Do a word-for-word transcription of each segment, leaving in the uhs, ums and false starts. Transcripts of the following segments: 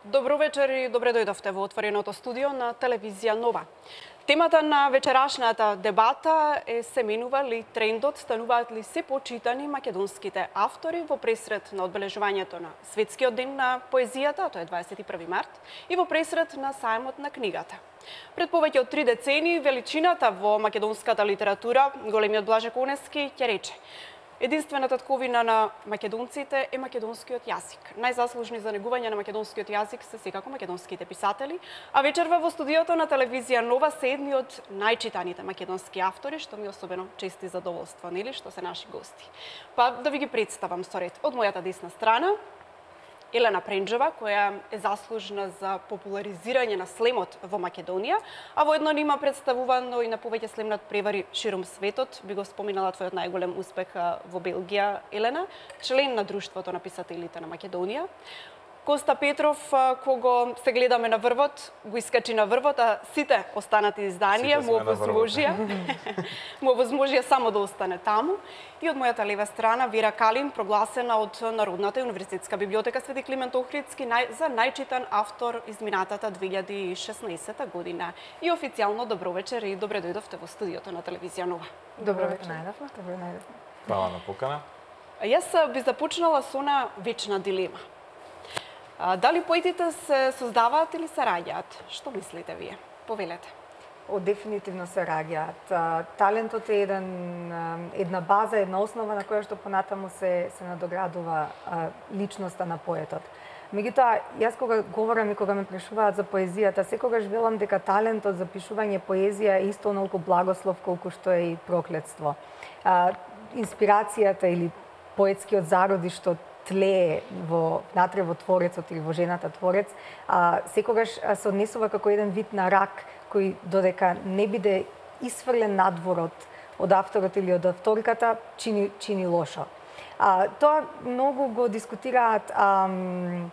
Добро вечер и добре дојдовте во отвореното студио на телевизија Нова. Темата на вечерашната дебата е се менува ли трендот, стануваат ли се почитани македонските автори во пресред на одбележувањето на Светскиот ден на поезијата, тоа е дваесет и први март, и во пресред на сајмот на книгата. Пред повеќе од три децении величината во македонската литература, големиот Блаже Конески ќе рече: единствената татковина на македонците е македонскиот јазик. Најзаслужни за негување на македонскиот јазик се секако македонските писатели, а вечерва во студиото на телевизија Нова се едни од најчитаните македонски автори, што ми особено чест и задоволство, нели, што се наши гости. Па да ви ги представам со ред. Од мојата десна страна Елена Пренџева, која е заслужна за популаризирање на слемот во Македонија, а воедно нима представувано и на повеќе слемнат превари широм светот. Би го споминала твојот најголем успех во Белгија, Елена, член на Друштвото на писателите на Македонија. Коста Петров, кого се гледаме на врвот, го искачи на врвот, а сите останати изданија му овозможија, му овозможија само да остане таму. И од мојата лева страна Вера Калин, прогласена од Народната универзитетска библиотека Свети Климент Охридски за најчитан автор изминатата две илјади и шеснаесета година. И официјално добро вечер и добре дојдовте во студиото на телевизија Нова. Добро вечер. Најдовме, добро најдовме. Фала на покана. Јас би започнала со она вечна дилема. Дали поетите се создаваат или се раѓаат? Што мислите вие? Повелете. О, дефинитивно се раѓаат. Талентот е еден, една база, една основа на која што понатаму се, се надоградува личноста на поетот. Меѓутоа, јас кога говорам и кога ме прашуваат за поезијата, секогаш велам дека талентот за пишување поезија е исто онолку благослов колку што е и проклетство. Инспирацијата или поетскиот зароди што тлее во натре во творецот или во жената творец, а, секогаш се однесува како еден вид на рак кој додека не биде исфрлен надворот од авторот или од авторката, чини, чини лошо. А, тоа многу го дискутираат ам,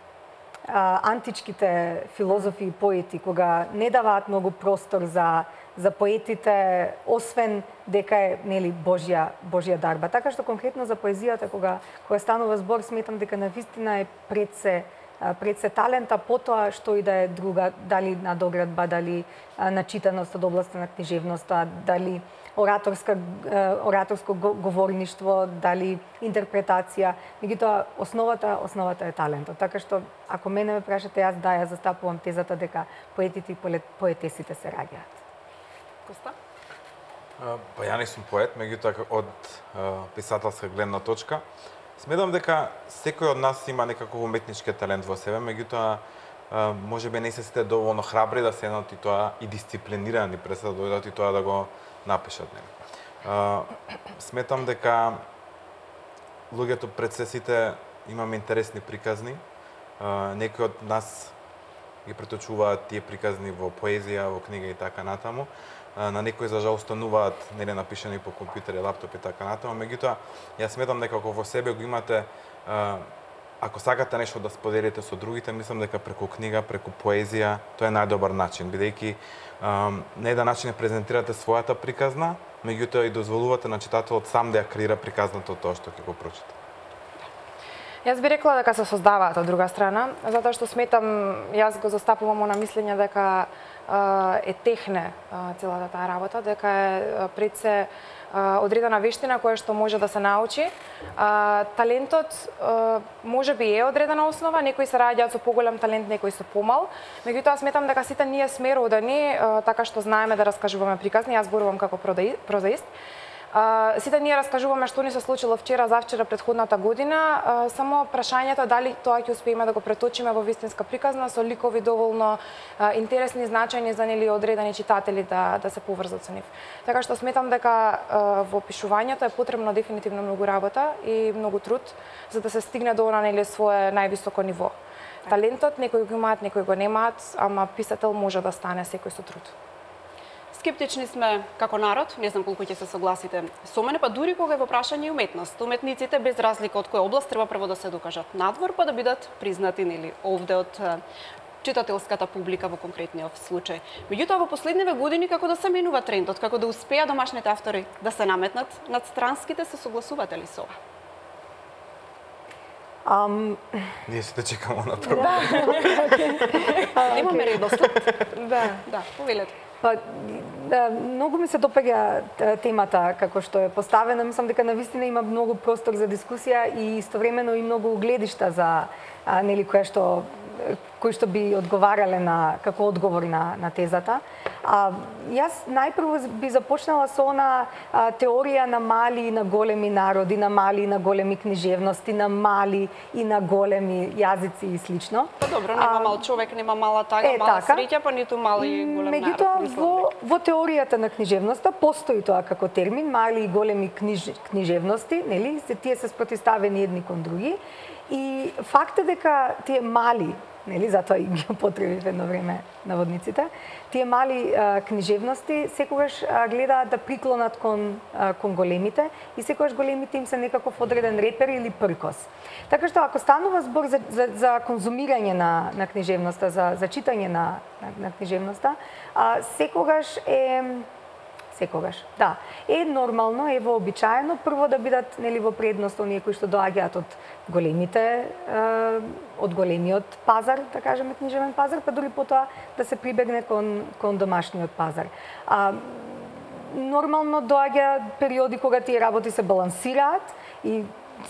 а, античките филозофи и поети, кога не даваат многу простор за за поетите, освен дека е, нели, Божја, Божја дарба. Така што конкретно за поезијата, кога, кога станува збор, сметам дека навистина е пред се, пред се талента, потоа што и да е друга, дали надоградба, дали начитаност од областа на книжевноста, дали ораторска, ораторско говорништво, дали интерпретација. Меѓутоа, основата, основата е талентот. Така што, ако мене ме прашате, јас да ја застапувам тезата дека поетите и поетесите се раѓаат. Коста? Па ја не сум поет, меѓутоа од писателска гледна точка сметам дека секој од нас има некаков уметнички талент во себе, меѓутоа можеби не се сите доволно храбри да седнат и тоа и дисциплинирани пред да дојдат и тоа да го напишат. Сметам дека луѓето пред се сите имаме интересни приказни. Некои од нас ги преточуваат тие приказни во поезија, во книга и така натаму. На некои за жал остануваат нели напишани по компјутер, лаптоп и така натаму, меѓутоа јас сметам дека ако во себе го имате, ако сакате нешто да споделите со другите, мислам дека преку книга, преку поезија, тоа е најдобар начин, бидејќи на еден начин презентирате својата приказна, меѓутоа и дозволувате на читателот сам да ја креира приказната од тоа што ќе го прочита. Јас би рекла дека се создаваат од друга страна, затоа што сметам, јас го застапувам на мислење дека е техне целата таа работа, дека е пред се одредена вештина која што може да се научи. Талентот може би е одредена основа, некои се раѓаат со поголем талент, некои со помал. Меѓутоа сметам дека сите ние сме родени така што знаеме да раскажуваме приказни, јас зборувам како прозаист. Uh, сите ние раскажуваме што ни се случило вчера, завчера, предходната година, uh, само прашањето дали тоа ќе успееме да го преточиме во вистинска приказна со ликови доволно uh, интересни, значајни за нели одредени читатели да да се поврзат со нив. Така што сметам дека uh, во пишувањето е потребно дефинитивно многу работа и многу труд за да се стигне до она нели свое највисоко ниво. Талентот некои го имаат, некои го немаат, ама писател може да стане секој со труд. Скептични сме како народ, не знам колку ќе се согласите со мене, па дури кога е во прашање и уметност. Уметниците, без разлика од која област, треба прво да се докажат надвор, па да бидат признати нели овде од читателската публика во конкретниот случај. Меѓутоа, во последниве години како да се менува трендот, како да успеа домашните автори да се наметнат над странските, се согласувате ли со ова? Ам... Ние сите чекамо на прво. Немаме редослед. Да. Да, повелете. Па, да, многу ми се допаѓа темата како што е поставена. Мислам дека навистина има многу простор за дискусија и истовремено и многу гледишта за а, нели која што кои што би одговарале на како одговор на на тезата. А јас најпрво би започнала со она а, теорија на мали и на големи народи, на мали и на големи книжевности, на мали и на големи јазици и слично. Па добро, нема мал човек, нема мала тага, е, мала така. среќа, па ниту мал и голем народ. Меѓутоа, во, во теоријата на книжевноста постои тоа како термин, мали и големи книж, книжевности, нели? Се тие се спротивставени едни кон други. И факт е дека тие мали, нели, затоа и ги употребив едно време наводниците, тие мали а, книжевности секогаш а, гледаат да приклонат кон, а, кон големите и секогаш големите им се некаков одреден репер или пркос. Така што ако станува збор за, за, за конзумирање на, на книжевноста, за, за читање на, на, на книжевноста, а, секогаш е секогаш. Да, е нормално, е вообичаено прво да бидат нели во предност оние кои што доаѓаат од големите е, од големиот пазар, да кажеме книжевен пазар, па дури потоа да се прибегне кон кон домашниот пазар. А нормално доаѓа периоди кога тие работи се балансираат и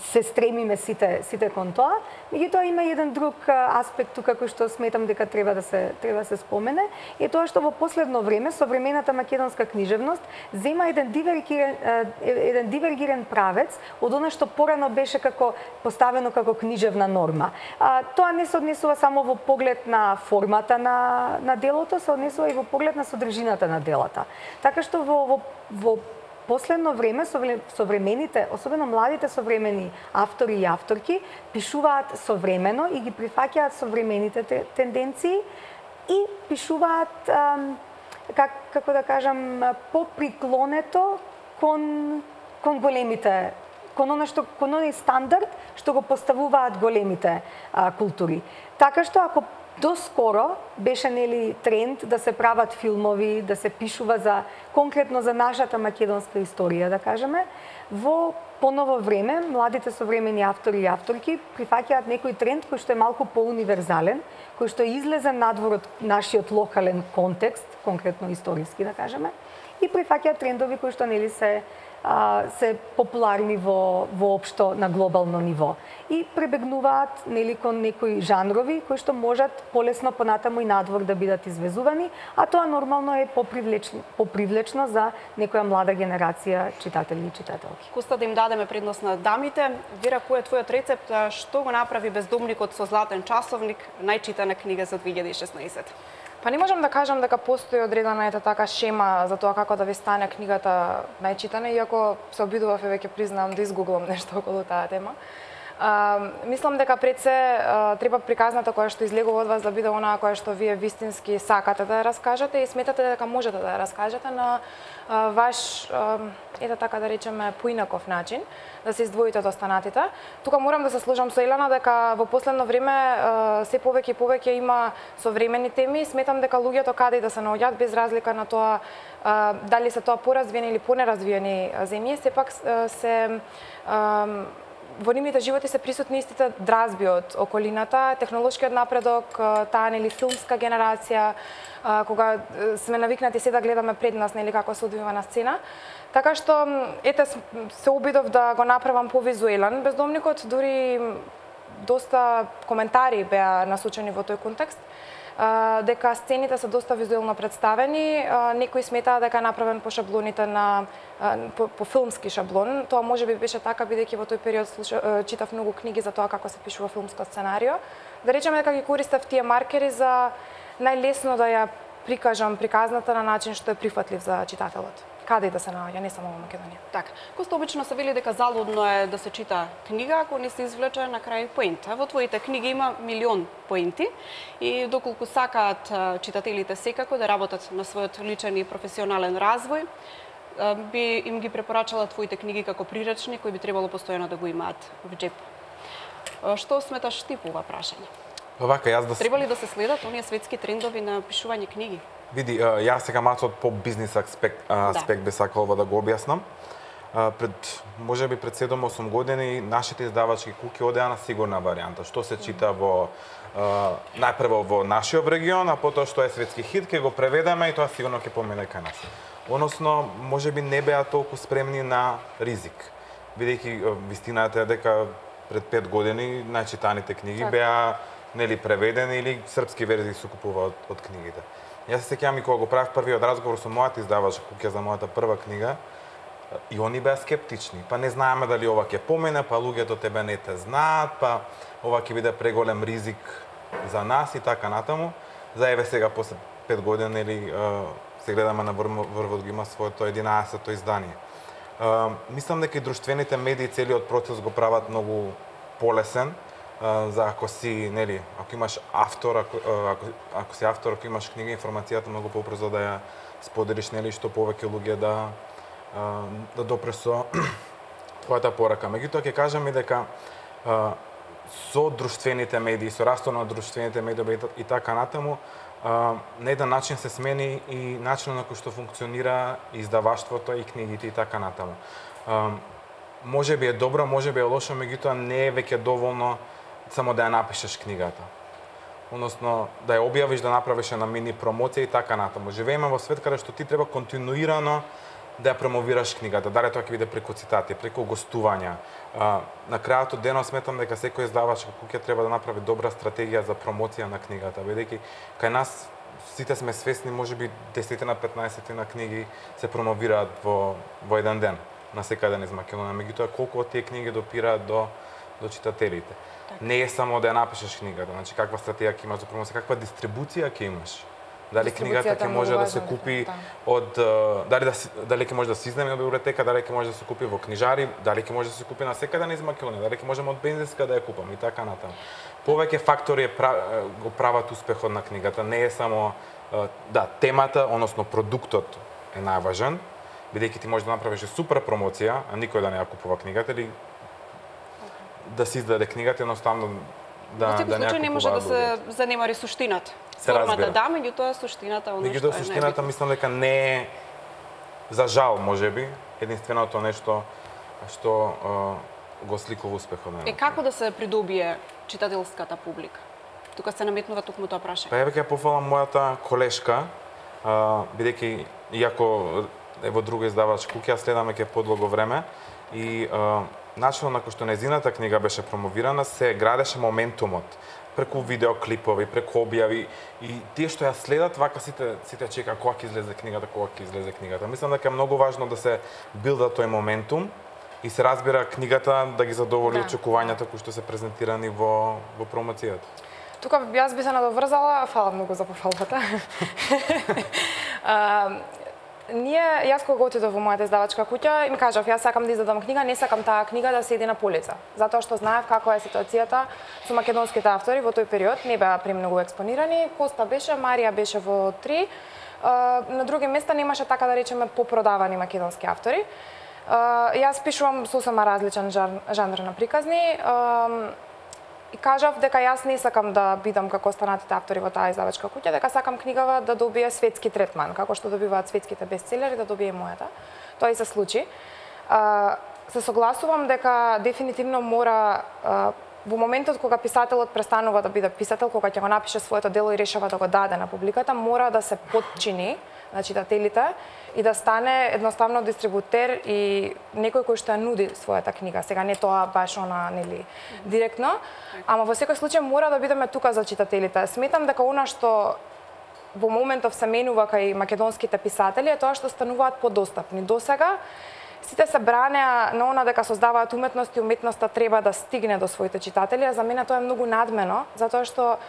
се стремиме сите сите кон тоа. Меѓутоа има еден друг аспект тука кој што сметам дека треба да се треба да се спомене, е тоа што во последно време современата македонска книжевност зема еден дивергиран еден дивергиран правец од она што порано беше како поставено како книжевна норма. А, тоа не се однесува само во поглед на формата на на делото, се однесува и во поглед на содржината на делата. Така што во во, во последно време современите, особено младите современи автори и авторки, пишуваат современо и ги прифаќаат современите тенденции и пишуваат как како да кажам поприклонето кон кон големите, кон она што кон оној стандард што го поставуваат големите а, култури. Така што ако доскоро беше нели тренд да се прават филмови, да се пишува за конкретно за нашата македонска историја, да кажеме, во поново време младите современи автори и авторки прифаќаат некој тренд кој што е малку поуниверзален, кој што е излезен надвор од нашиот локален контекст, конкретно историски, да кажеме, и прифаќаат трендови кои што нели се а, се популарни во воопшто на глобално ниво и пребегнуваат нели кон некои жанрови кои што можат полесно понатаму и надвор да бидат извезувани, а тоа нормално е попривлечно, попривлечно за некоја млада генерација читатели и читателки. Коста да им дадеме предност на дамите, Вера, кој е твојот рецепт, што го направи Бездомникот со златен часовник, најчитана книга за две илјади и шеснаесетта? Па не можам да кажам дека постои одредена ета така шема за тоа како да ви стане книгата најчитана, иако се обидував и веќе признавам да изгуглам нешто околу таа тема. А, мислам дека пред се а, треба приказната која што излегува од вас да биде онаа која што вие вистински сакате да ја раскажете и сметате дека можете да ја раскажете на а, ваш, а, ета така да речеме, поинаков начин, да се издвоите од останатите. Тука морам да се сложам со Елена дека во последно време а, се повеќе и повеќе има современи теми. Сметам дека луѓето каде и да се наоѓаат без разлика на тоа а, дали се тоа поразвиени или понеразвиени земји, сепак се а, во нивните животи се присутни истите дразби од околината, технолошкиот напредок, таа нели филмска генерација, кога сме навикнати се да гледаме пред нас нели како се одвива на сцена. Така што ете се обидов да го направам повизуелен Бездомникот, дури доста коментари беа насочени во тој контекст. Дека сцените се доста визуелно представени, некои сметаа дека е направен по шаблоните на по, по филмски шаблон. Тоа можеби беше така бидејќи во тој период слуша, читав многу книги за тоа како се пишува филмско сценарио. Да речеме дека ги користев тие маркери за најлесно да ја прикажам приказната на начин што е прифатлив за читателот. Каде и да се наоѓа, не само во Македонија. Така, Коста обично се вели дека залудно е да се чита книга ако не се извлече на крај поента. Во твоите книги има милион поенти и доколку сакаат читателите секако да работат на својот личен и професионален развој, би им ги препорачала твоите книги како приречни кои би требало постојано да го имаат во джеп. Што сметаш ти по ова прашање? Вака, јас да Треба ли да се следат оние светски трендови на пишување книги? Види, јас сега малку од по бизнис аспект, аспект би сакал ова да го објаснам. пред можеби пред седум-осум години нашите издавачки куќи одеа на сигурна варијанта, што се чита во најпрво во нашиот регион, а потоа што е светски хит, ќе го преведеме и тоа сигурно ќе помине кај нас. Односно, можеби не беа толку спремни на ризик, бидејќи вистината е дека пред пет години најчитаните книги так. беа нели преведени или српски верзии се купуваат од, од книгите. Јас се сеќавам и кога го правев првиот разговор со мојата издавачка куќа за мојата прва книга, и они беа скептични. Па не знаеме дали ова ќе помине, па луѓето тебе не те знаат, па ова ќе биде преголем ризик за нас и така натаму. За еве сега после пет години или се гледаме на врвот го има своето единаесетто издание. Мислам дека и друштвените медии целиот процес го прават многу полесен, за ако си, нели, ако имаш автор, ако, ако, ако си автор, ако имаш книга, информацијата многу побрзо да ја споделиш, нели, што повеќе луѓе да да допре со твојата порака. Меѓутоа ќе кажам и дека со друштвените медии, со растот на друштвените медии и така натаму, на еден начин се смени и начинот на кој што функционира издаваштвото и книгите и така натаму. Може би е добро, може би е лошо, меѓутоа не е веќе доволно само да ја напишеш книгата. Односно, да ја објавиш, да направиш на мини промоција и така натаму. Живееме во свет каде што ти треба континуирано да ја промовираш книгата, дали тоа ќе биде преку цитати, преку гостувања. А, на крајот од денот сметам дека секој издавачка куќа треба да направи добра стратегија за промоција на книгата, бидејќи кај нас сите сме свесни, можеби десет-петнаесет книги се промовираат во во еден ден на секаде низ Македонија, меѓутоа колку од тие книги допираат до до читателите. Так. Не е само да ја напишеш книгата, значи каква стратегија ќе имаш за промоција, каква дистрибуција ќе имаш. Дали книгата ќе може да се купи од дали да дали ќе може да се изнеми од библиотека, дали ќе може да се купи во книжари, дали ќе може да се купи на секаде низ Македонија, дали ќе можеме од бензинска да ја купам и така натаму. Повеќе фактори е го прават успехот на книгата, не е само да темата, односно продуктот е најважен, бидејќи ти можеш да направиш супер промоција, а никој да не ја купува книгата или да се издаде книгата едноставно да во секој да случај не може да се занемари суштината. Формата да, меѓутоа суштината оно што е. Меѓутоа суштината мислам дека не е, за жал можеби, единственото нешто што uh, го сликува успехот на. Е како да се придобие читателската публика? Тука се наметнува токму тоа прашање. Па еве ќе пофалам мојата колешка, uh, бидејќи иако е во друга издавачка куќа, следаме ќе подлого време и uh, начинот на кој што нејзината книга беше промовирана се градеше моментумот преку видеоклипови, преку објави и тие што ја следат вака сите сите чека кога ќе излезе книгата, кога ќе излезе книгата. Мислам дека е многу важно да се билда тој моментум и се разбира книгата да ги задоволи да. очекувањата кои што се презентирани во во промоцијата. Тука јас би се надоврзала, фала многу за пофалбата. Ние, јас кога отидов во мојата издавачка куќа, им кажав, јас сакам да издадам книга, не сакам таа книга да седи на полица. Затоа што знаев каква е ситуацијата со македонските автори во тој период, не беа премногу експонирани. Коста беше, Марија беше во три. На други места немаше, така да речеме, попродавани македонски автори. Јас пишувам сосема различен жанр на приказни. И кажав дека јас не сакам да бидам како останатите автори во таа издавачка куќа, дека сакам книгава да добие светски третман, како што добиваат светските бестселери, да добие мојата. Тоа и се случи. Се согласувам дека дефинитивно мора во моментот кога писателот престанува да биде писател, кога ќе го напише своето дело и решава да го даде на публиката, мора да се подчини на читателите и да стане едноставно дистрибутер и некој кој што ја нуди својата книга. Сега не тоа баш она, нели, директно, ама во секој случај мора да бидеме тука за читателите. Сметам дека она што во моментов се менува кај македонските писатели е тоа што стануваат подостапни. Досега сите се бранеа на она дека создаваат уметност и уметноста треба да стигне до своите читатели, а за мене тоа е многу надмено, затоа што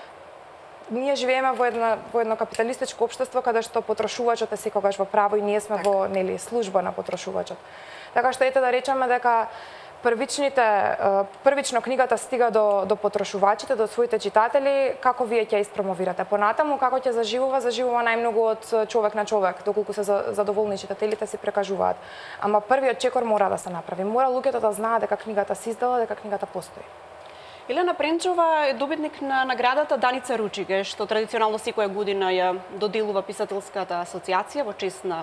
ние живееме во едно во едно капиталистичко општество каде што потрошувачот е секогаш во право и ние сме так. во нели служба на потрошувачот. Така што ете да речеме дека првичните првично книгата стига до до потрошувачите, до своите читатели, како вие ќе испромовирате понатаму, како ќе заживува, заживува најмногу од човек на човек, доколку се задоволни читателите се прекажуваат. Ама првиот чекор мора да се направи. Мора луѓето да знаат дека книгата се издала, дека книгата постои. Илена Пренчова е добитник на наградата Даница Ручиге, што традиционално секоја година ја доделува Писателската асоциација во чест на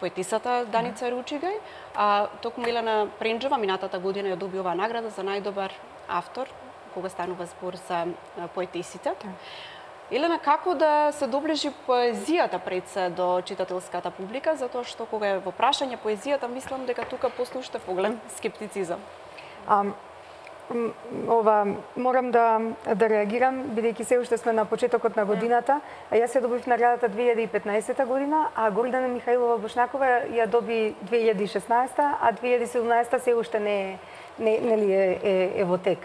поетисата Даница Ручиге. А токму Илена Пренчова минатата година ја доби оваа награда за најдобар автор, кога станува збор за поетисите. Елена, како да се доближи поезијата пред се до читателската публика, затоа што кога е во прашање поезијата, мислам дека тука постои уште поголем скептицизам. А, ова морам да да реагирам, бидејќи се уште сме на почетокот на годината. А јас ја добив наградата две илјади и петнаесета година, а Гордана Михаилова Бошнакова ја доби две илјади и шеснаесета, а две илјади и седумнаесета се уште не не нели е, е, е во тек.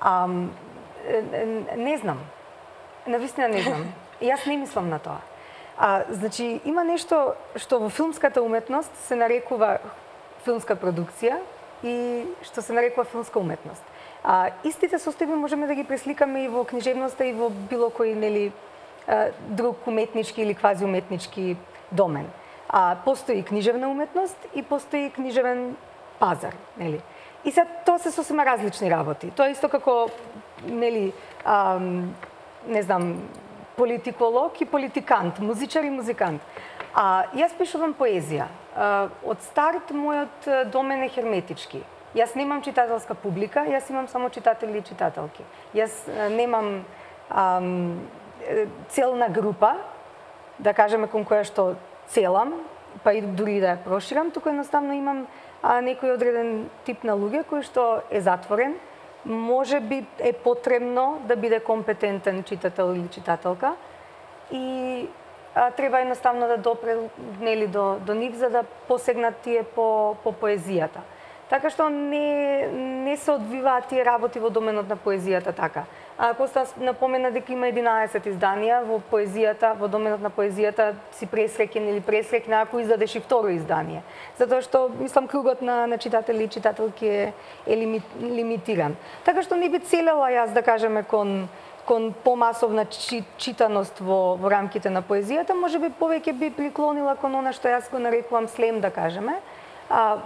А, не знам. Навистина не знам. Јас не мислам на тоа. А, значи, има нешто што во филмската уметност се нарекува филмска продукција и што се нарекува филмска уметност. А, истите состојби можеме да ги пресликаме и во книжевноста и во било кој нели друг уметнички или квази уметнички домен. А постои книжевна уметност и постои книжевен пазар, нели? И се тоа се сосема различни работи. Тоа исто како нели ам, не знам, политиколог и политикант, музичар и музикант. А јас пишувам поезија. А, од старт мојот домен е херметички. Јас немам читателска публика, јас имам само читатели и читателки. Јас немам ам, целна група, да кажеме кон која што целам, па и дури да ја проширам, туку едноставно имам а, некој одреден тип на луѓе кој што е затворен, може би е потребно да биде компетентен читател или читателка и а, треба едноставно да допре нели до до нив за да посегнат тие по по поезијата. Така што не не се одвиваат тие работи во доменот на поезијата така. А Коста напомена дека има единаесет изданија во поезијата, во доменот на поезијата си пресреќен или пресреќна ако издадеш и второ издание. Затоа што мислам кругот на на читатели и читателки е, е лими, лимитиран. Така што не би целела јас да кажеме кон кон помасовна чи, читаност во во рамките на поезијата, можеби повеќе би приклонила кон она што јас го нарекувам слем да кажеме. А,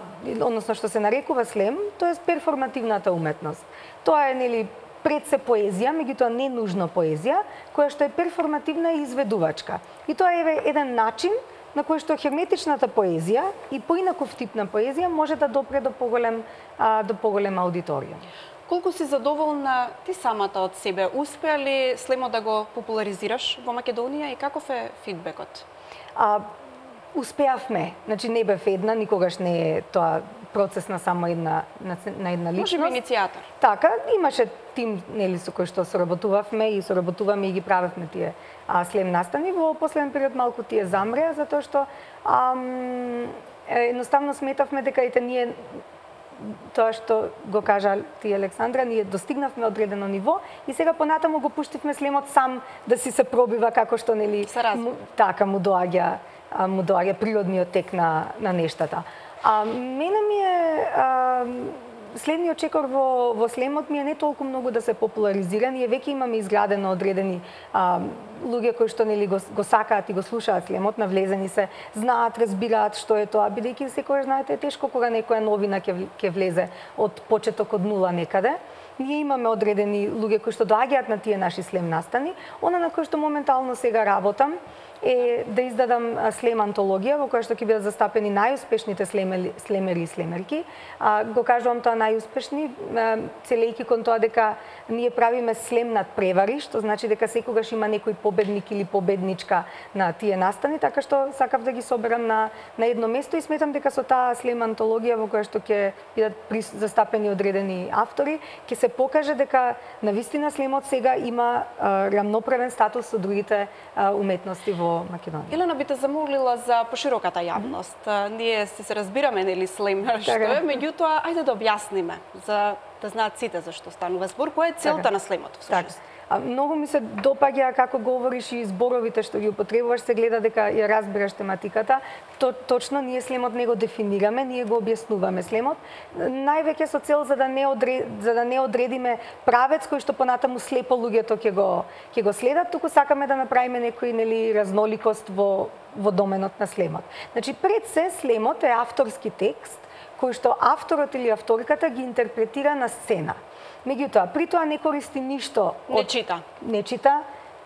односно што се нарекува слем, тоа е перформативната уметност. Тоа е нели пред се поезија, меѓутоа не нужно поезија, која што е перформативна и изведувачка. И тоа е еден начин на кој што херметичната поезија и поинаков тип на поезија може да допре до поголем а, до поголем аудиторија. Колку си задоволна ти самата од себе? Успеа ли слемот да го популаризираш во Македонија и каков е фидбекот? А, успеавме, значи не бев една, никогаш не е тоа процес на само една на, на една личност. Може би иницијатор. Така, имаше тим нели со кој што соработувавме и соработуваме и ги правевме тие а, слем настани. Во последен период малку тие замреа затоа што ам, едноставно сметавме дека ете ние тоа што го кажа ти Александра, ние достигнавме одредено ниво и сега понатаму го пуштивме слемот сам да си се пробива како што нели му, така му доаѓа му доаѓа природниот тек на на нештата. А мене ми е а, следниот чекор во во слемот ми е не толку многу да се популаризира, ние веќе имаме изградено одредени а, луѓе кои што нели го, го сакаат и го слушаат слемот, навлезени се, знаат, разбираат што е тоа, бидејќи секогаш знаете е тешко кога некоја новина ќе ќе влезе од почеток од нула некаде. Ние имаме одредени луѓе кои што доаѓаат на тие наши слем настани, она на кој што моментално сега работам е да издадам слем антологија во која што ќе бидат застапени најуспешните слемери, слемери и слемерки. А, го кажувам тоа најуспешни, целејќи кон тоа дека ние правиме слем над превари, што значи дека секогаш има некој победник или победничка на тие настани, така што сакав да ги соберам на на едно место и сметам дека со таа слем антологија во која што ќе бидат застапени одредени автори, ќе се покаже дека навистина слемот сега има а, рамноправен статус со другите а, уметности во Македонија. Елена, би те замолила за пошироката јавност. Mm -hmm. Ние се, се разбираме нели слем што е, меѓутоа ајде да објасниме за да знаат сите зашто станува збор, која е целта така на слемот всушност. А, многу ми се допаѓа како говориш и зборовите што ги употребуваш, се гледа дека ја разбираш тематиката. То, точно ние слемот не го дефинираме, ние го објаснуваме слемот. Највеќе со цел за да не одре, за да не одредиме правец кој што понатаму слепо луѓето ќе го ќе го следат, туку сакаме да направиме некој нели разноликост во во доменот на слемот. Значи пред се слемот е авторски текст кои што авторот или авторката ги интерпретира на сцена. Меѓутоа, при тоа не користи ништо Не чита. Не чита.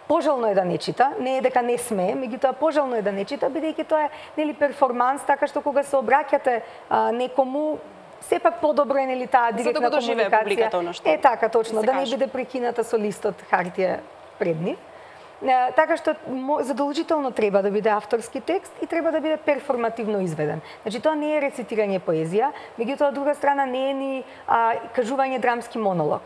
Пожелно е да не чита, не е дека не смее, меѓутоа пожелно е да не чита, бидејќи тоа е нели перформанс, така што кога се обраќате а, некому, сепак подобро е нели таа директна да комуникација. публиката оно што Е така точно, се да не каже. биде прекината со листот хартија пред нив. Е, така што задолжително треба да биде авторски текст и треба да биде перформативно изведен. Значи тоа не е рецитирање поезија, меѓутоа од друга страна не е ни а, кажување драмски монолог.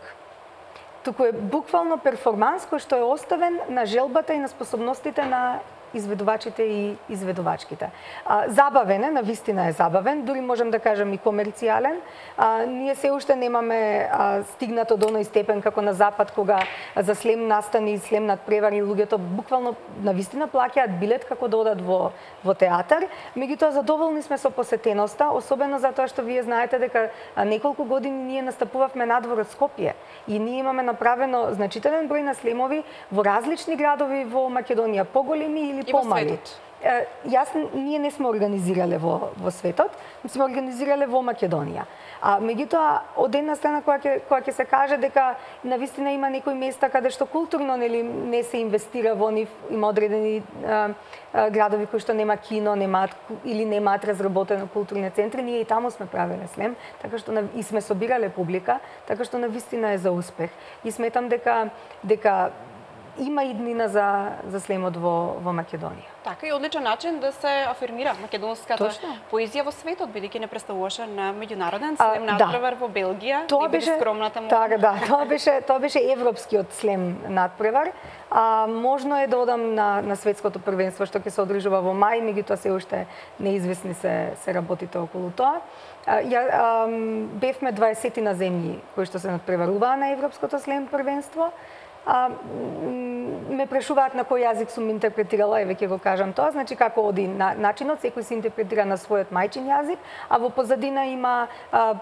Туку е буквално перформанс кој што е оставен на желбата и на способностите на изведувачите и изведувачките. А, забавен е, навистина е забавен, дури можем да кажем и комерцијален. А, ние се уште немаме а, стигнато до оној степен како на Запад, кога за слем настани и слем над превари луѓето буквално навистина плаќаат билет како да одат во, во театар. Меѓутоа задоволни сме со посетеноста, особено затоа што вие знаете дека неколку години ние настапувавме надвор од Скопје и ние имаме направено значителен број на слемови во различни градови во Македонија, поголеми или И во помали. светот. Е, Јас ние не сме организирале во во светот, сме организирале во Македонија. А меѓутоа од една страна кога ќе кога ќе се каже дека навистина има некои места каде што културно нели не се инвестира во нив, има одредени а, а, градови кои што нема кино, немаат или немаат разработено културни центри, ние и таму сме правеле слем, така што и сме собирале публика, така што навистина е за успех. И сметам дека дека има иднина за за слемот во во Македонија. Така и одличен начин да се афирмира македонската Точно. поезија во светот, бидејќи не представуваше на меѓународен А, слем да. надпревар во Белгија, Тоа и биде беше скромната му. Така, да, тоа беше тоа беше европскиот слем надпревар. А можно е да одам на на светското првенство што ќе се одржува во мај, меѓутоа се уште неизвестни се се работите околу тоа. А, ја а, бевме дваесет на земји кои што се надпреваруваа на европското слем првенство. А, ме прашуваат на кој јазик сум интерпретирала, еве ќе го кажам тоа, значи како оди на, начинот, секој се интерпретира на својот мајчин јазик, а во позадина има а,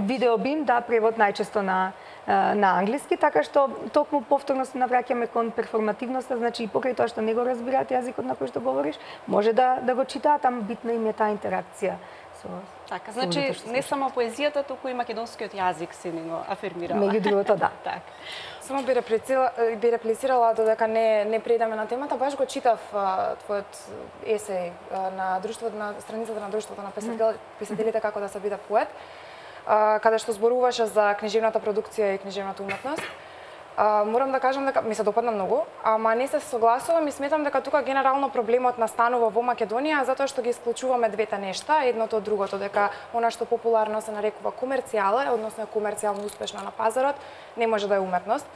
видеобим, да, превод најчесто на на англиски, така што токму повторно се навраќаме кон перформативноста, значи и покрај тоа што не го разбираат јазикот на кој што говориш, може да да го читаат, ама битна им е таа интеракција со Така, значи не само поезијата, туку и македонскиот јазик се ни го афирмирала. Меѓу другото, да. Така. Само би реплицирала, би реплицирала додека не не предаме на темата, баш го читав а, твојот есеј а, на друштвото на страницата на друштвото на писател, писателите како да се биде поет, а, каде што зборуваше за книжевната продукција и книжевната уметност. А, морам да кажам дека ми се допадна многу, ама не се согласувам и сметам дека тука генерално проблемот настанува во Македонија затоа што ги исклучуваме двете нешта, едното од другото, дека она што популарно се нарекува комерцијала, односно е комерцијално успешно на пазарот, не може да е уметност.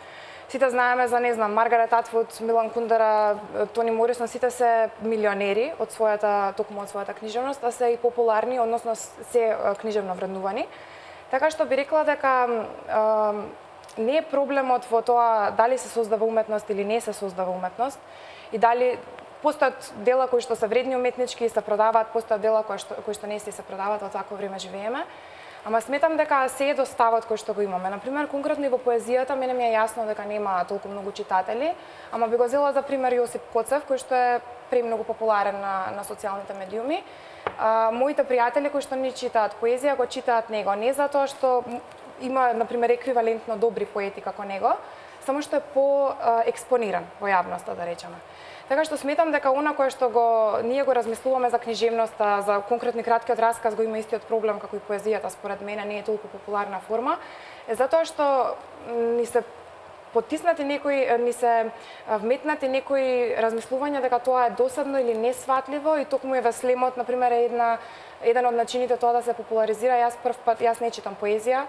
Сите знаеме за, не знам, Маргарет Атвуд, Милан Кундера, Тони Морисон, сите се милионери од својата, токму од својата книжевност, а се и популарни, односно се книжевно вреднувани. Така што би рекла дека а, не е проблемот во тоа дали се создава уметност или не се создава уметност и дали постојат дела кои што се вредни уметнички и се продаваат, постојат дела кои што кои што не се се продаваат, во такво време живееме. Ама сметам дека се е доставот кој што го имаме. Например, конкретно и во поезијата, мене ми е јасно дека нема толку многу читатели, ама би го зела за пример Јосип Коцев, кој што е премногу популарен на, на социјалните медиуми. А, моите пријатели кои што не читаат поезија, го читаат него, не затоа што има, например, еквивалентно добри поети како него, само што е по-експониран во јавноста, да речеме. Така што сметам дека она кое што го ние го размислуваме за книжевноста, за конкретни краткиот расказ го има истиот проблем како и поезијата, според мене не е толку популарна форма, е затоа што ни се потиснати некои, ни се вметнати некои размислувања дека тоа е досадно или несватливо и токму е во слемот, например, е една еден од начините тоа да се популаризира. Јас прв пат, јас не читам поезија.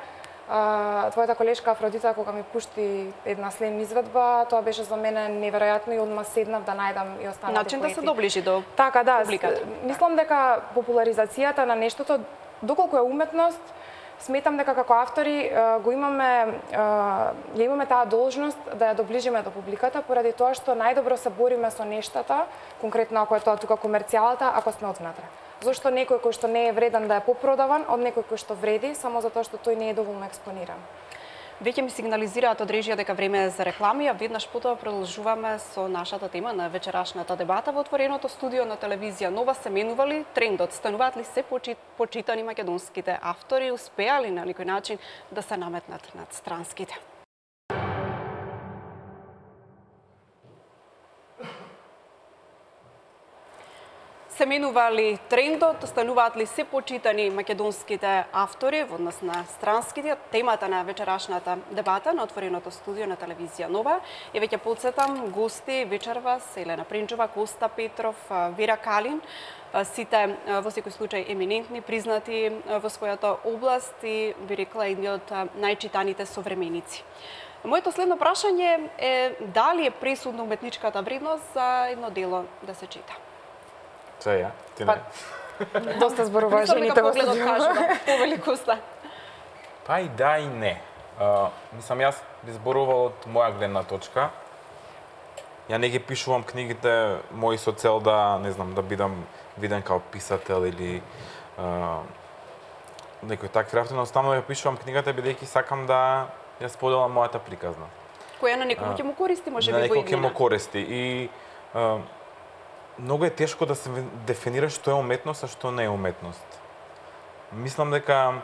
А, твојата колешка Афродита кога ми пушти една слем изведба, тоа беше за мене неверојатно и одма седнав да најдам и останати Начин поети. да се доближи до така, да, публиката. Мислам дека популаризацијата на нештото, доколку е уметност, сметам дека како автори го имаме, ја имаме таа должност да ја доближиме до публиката, поради тоа што најдобро се бориме со нештата, конкретно ако е тоа тука комерцијалата, ако сме одвнатре. Зошто некој кој што не е вреден да е попродаван од некој кој што вреди, само затоа што тој не е доволно експониран. Веќе ми сигнализираат од режија дека време е за реклами, а веднаш потоа продолжуваме со нашата тема на вечерашната дебата во отвореното студио на телевизија Нова. Се менува ли трендот? Стануваат ли се почитани македонските автори? Успеа ли на некој начин да се наметнат над странските? Се менува ли трендот, стануваат ли се почитани македонските автори во однос на странските? Темата на вечерашната дебата на отвореното студио на телевизија Нова. И веќе подсетам, гости вечерва се Елена Принчова, Коста Петров, Вера Калин, сите во секој случај еминентни, признати во својата област и би рекла едни од најчитаните современици. Моето следно прашање е дали е пресудна уметничката вредност за едно дело да се чита? Се ја, ти не. Па, доста зборува жените во погледот кажува, повеликоста. Па и да и не. Uh, мислам, јас би зборувал од моја гледна точка. Ја не ги пишувам книгите мои со цел да, не знам, да бидам виден као писател или uh, некој такви работи, но останува ја пишувам книгата бидејќи сакам да ја споделам мојата приказна. Која на некој ќе му користи, може би во иднина. На некој ќе му иднина. користи и uh, многу е тешко да се дефинира што е уметност, а што не е уметност. Мислам дека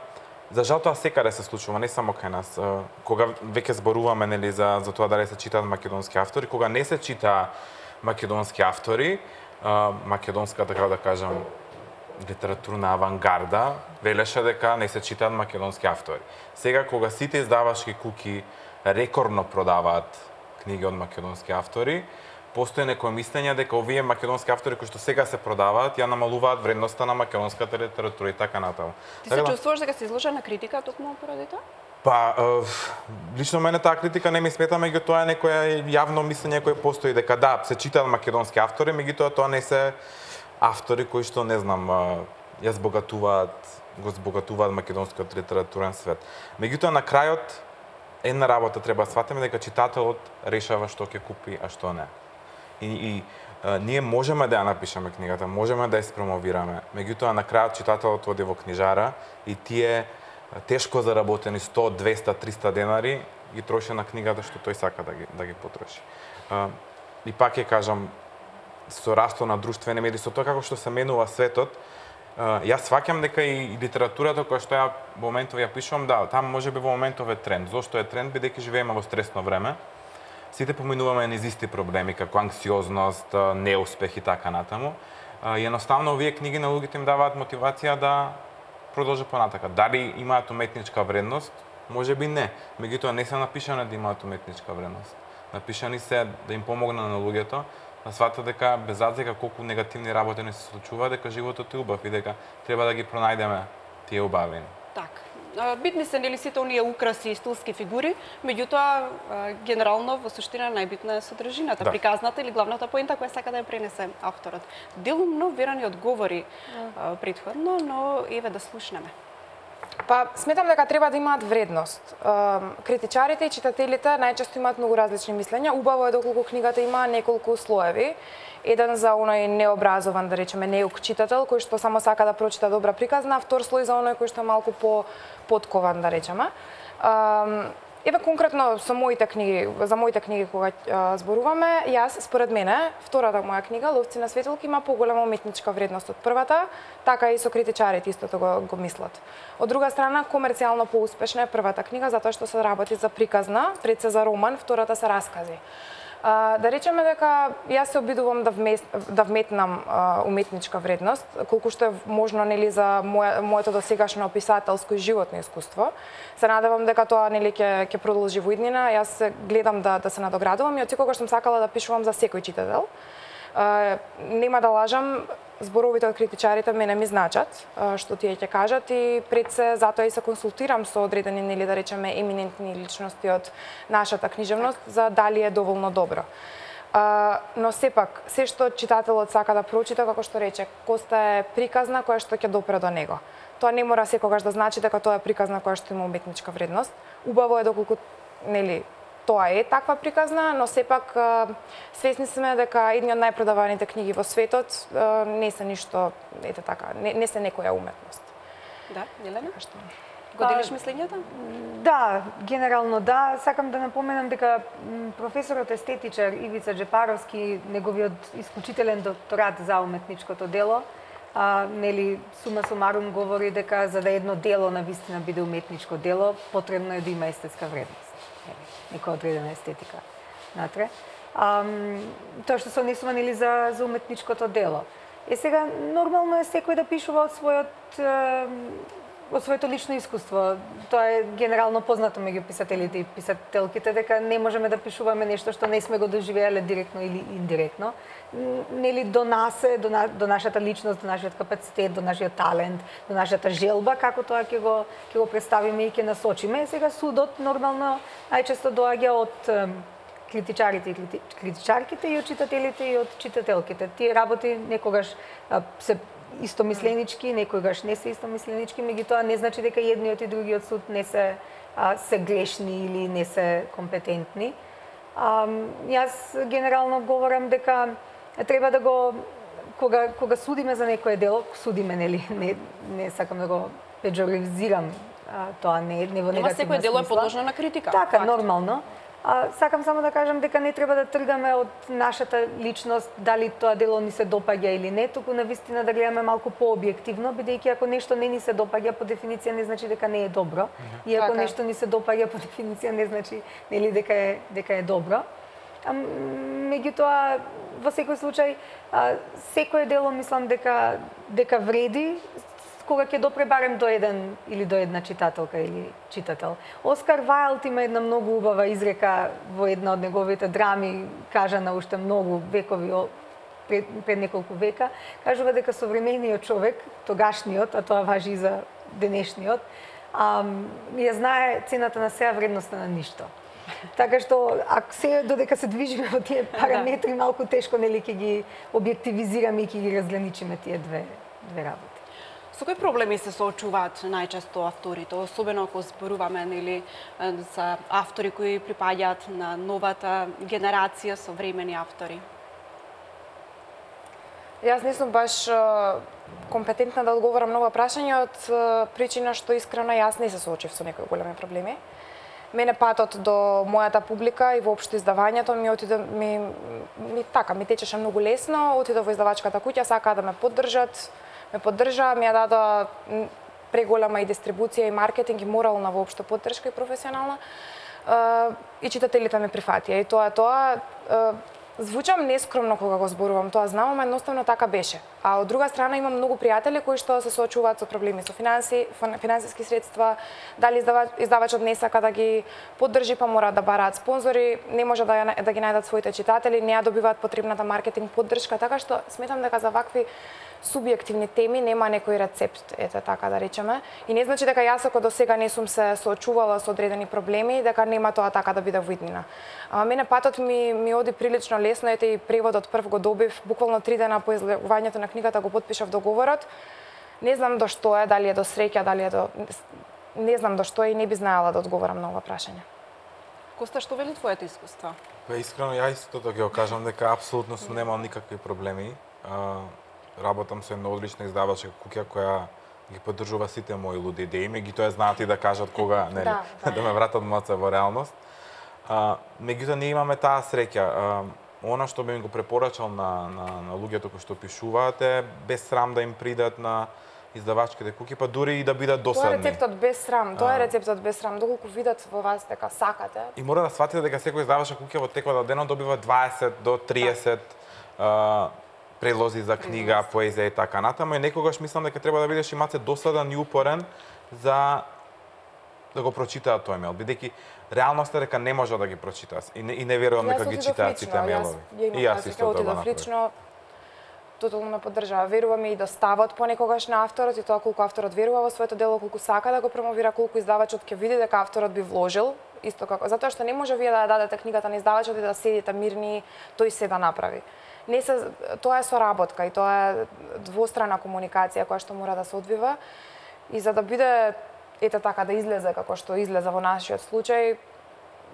за жал тоа секаде се случува, не само кај нас. Кога веќе зборуваме нели за за тоа дали се читаат македонски автори, кога не се чита македонски автори, македонска, така да кажам, литературна авангарда велеше дека не се читаат македонски автори. Сега кога сите издавачки куки рекордно продаваат книги од македонски автори, постои некој мислење дека овие македонски автори кои што сега се продаваат ја намалуваат вредноста на македонската литература и така натаму. Ти се чувствуваш дека си изложен на критика токму поради тоа? Па, е, лично мене таа критика не ми смета, меѓутоа е некоја јавно мислење кое постои дека да, се читаат македонски автори, меѓутоа тоа не се автори кои што не знам, ја збогатуваат, го збогатуваат македонскиот литературен свет. Меѓутоа на крајот една работа треба да сватиме дека читателот решава што ќе купи, а што не. И, и а, ние можеме да ја напишеме книгата, можеме да ја спромовираме. Меѓутоа на крајот читателот оди во книжара и тие тешко заработени сто, двесте, триста денари ги троши на книгата што тој сака да ги да ги потроши. А, и пак ќе кажам, со растот на друштвени медии, со тоа како што се менува светот, а, јас сваќам дека и, и литературата која што ја во моментов ја пишувам, да, таму можеби во моментов е тренд. Зошто е тренд? Бидејќи живееме во стресно време. Сите поминуваме низ исти проблеми, како анксиозност, неуспех и така натаму. И едноставно овие книги на луѓето им даваат мотивација да продолжи понатака. Дали имаат уметничка вредност? Можеби не. Меѓутоа не се напишани да имаат уметничка вредност. Напишани се да им помогна на луѓето да сватат дека без разлика колку негативни работи не се случува, дека животот е убав и дека треба да ги пронајдеме тие убавини. Така. Битни се нели сите оние украси и стилски фигури, меѓутоа генерално во суштина најбитна е содржината, да. Приказната или главната поента која сака да ја пренесе авторот. Делумно Вера ни одговори да. Претходно, но еве да слушнеме. Па, сметам дека треба да имаат вредност. Критичарите и читателите најчесто имаат многу различни мислења. Убаво е доколку книгата има неколку слоеви. Еден за оној необразован, да речеме, неук читател, кој што само сака да прочита добра приказна, а втор слој за оној кој што е малку по подкован, да речеме. Еве конкретно со моите книги, за моите книги кога а, зборуваме, јас според мене втората моја книга Ловци на светилки има поголема уметничка вредност од првата, така и со критичарите истото го, го мислат. Од друга страна, комерцијално поуспешна е првата книга затоа што се работи за приказна, пред се за роман, втората се раскази. А, да речеме дека јас се обидувам да, вмес, да вметнам а, уметничка вредност, колку што е можно нели за моја, моето досегашно писателско и животно искуство. Се надевам дека тоа нели ќе ќе продолжи во иднина. Јас гледам да да се надоградувам и од секогаш сум сакала да пишувам за секој читател. А, нема да лажам, зборовите од критичарите мене ми значат, што тие ќе кажат и пред се затоа и се консултирам со одредени нели да речеме еминентни личности од нашата книжевност за дали е доволно добро. А, но сепак, се што читателот сака да прочита, како што рече, Коста е приказна која што ќе допре до него. Тоа не мора секогаш да значи дека тоа е приказна која што има уметничка вредност. Убаво е доколку нели тоа е таква приказна, но сепак свесни сме дека едни од најпродаваните книги во светот не се ништо, ете така, не, не се некоја уметност. Да, Елена? Што? Го делиш мислењето? Да, генерално да. Сакам да напоменам дека професорот естетичар Ивица Джепаровски, неговиот исклучителен докторат за уметничкото дело, а, нели сума сумарум говори дека за да едно дело на вистина биде уметничко дело, потребно е да има естетска вредност. Нека одредена естетика натре. А, тоа што се однесува нели за за уметничкото дело. Е сега нормално е секој да пишува од својот од своето лично искуство. Тоа е генерално познато меѓу писателите и писателките дека не можеме да пишуваме нешто што не сме го доживеале директно или индиректно. Нели до нас е, до, на, до нашата личност, до нашиот капацитет, до нашиот талент, до нашата желба, како тоа ќе го ќе го представиме и ќе насочиме. Сега судот нормално најчесто доаѓа од критичарите и критичарките и од читателите и од читателките. Тие работи некогаш а, се истомисленички, некогаш не се истомисленички, меѓутоа не значи дека едниот и другиот суд не се а, се грешни или не се компетентни. А, јас генерално говорам дека треба да го кога кога судиме за некое дело, судиме нели, не не сакам да го педжоризирам, а, тоа не не во негативна смисла. Ама секој дело е подложено на критика. Така, нормално. А, сакам само да кажам дека не треба да тргаме од нашата личност дали тоа дело ни се допаѓа или не, туку навистина да гледаме малку пообјективно, бидејќи ако нешто не ни се допаѓа по дефиниција не значи дека не е добро, и ако така. нешто ни се допаѓа по дефиниција не значи нели дека е дека е добро. А, меѓутоа во секој случај а, секое дело мислам дека дека вреди кога ќе допре барем до еден или до една читателка или читател. Оскар Вајлд има една многу убава изрека во една од неговите драми, кажана уште многу векови пред, пред неколку века, кажува дека современиот човек, тогашниот, а тоа важи и за денешниот, а, ја знае цената на сеа, вредноста на ништо. Така што ако се додека се движиме во тие параметри, малку тешко нели ќе ги објективизираме и ќе ги разграничиме тие две две работи. Со кои проблеми се соочуваат најчесто авторите, особено ако зборуваме нели за автори кои припаѓаат на новата генерација современи автори? Јас не сум баш компетентна да одговорам на ова прашање од причина што искрено јас не се соочив со некои големи проблеми. Мене патот до мојата публика и воопшто издавањето ми отиде ми, ми така ми течеше многу лесно, отидов во издавачката куќа, сакаа да ме поддржат, ме поддржаа, ми ја дадоа преголема и дистрибуција и маркетинг и морална воопшто поддршка и професионална. И читателите ме прифатија. И тоа тоа звучам нескромно кога го зборувам, тоа знам, ама едноставно така беше. А од друга страна имам многу пријатели кои што се соочуваат со проблеми со финанси, финансиски средства, дали издавач, издавачот не сака да ги поддржи, па мора да бараат спонзори, не може да, ја, да ги најдат своите читатели, не ја добиваат потребната маркетинг поддршка, така што сметам дека за вакви субјективни теми нема некој рецепт, ете така да речеме. И не значи дека јас ако до сега не сум се соочувала со одредени проблеми, дека нема тоа така да биде во иднина. Ама мене патот ми ми оди прилично лесно, ете и преводот прв го добив, буквално три дена по излегувањето на книгата го потпишав договорот. Не знам до што е, дали е до среќа, дали е до не знам до што е и не би знаела да одговорам на ова прашање. Коста, што вели твоето искуство? Па искрено ја истото да ќе го кажам дека апсолутно сум немал никакви проблеми. А, работам со една одлична издавачка куќа која ги поддржува сите мои луди идеи, меѓутоа знаат и да кажат кога нели да, да. да ме вратат моца во реалност. А, меѓутоа ние имаме таа среќа. А, она што би ми го препорачал на на на луѓето кои што пишуваат е без срам да им придат на издавачките куќи, па дури и да бидат досадни. Тоа е рецептот без срам, тоа е рецептот без срам, доколку видат во вас дека сакате. И мора да сватите дека секој издавачка куќа во текот на денот добива дваесет до триесет а, предлози за книга, поезија и така натаму, и некогаш мислам дека треба да бидеш и маце досаден и упорен за да го прочитаат тој мејл, бидејќи реалноста е дека не може да ги прочитаат и не, и не верувам дека ги читаат сите мејлови. И јас исто тоа го лично, тотално ме поддржава. Верувам и до ставот понекогаш на авторот и тоа колку авторот верува во своето дело, колку сака да го промовира, колку издавачот ќе види дека авторот би вложил, исто како затоа што не може вие да ја дадете книгата на издавачот и да седите мирни, тој се да направи. Не се, тоа е соработка и тоа е двострана комуникација која што мора да се одвива и за да биде ете така да излезе како што излезе во нашиот случај,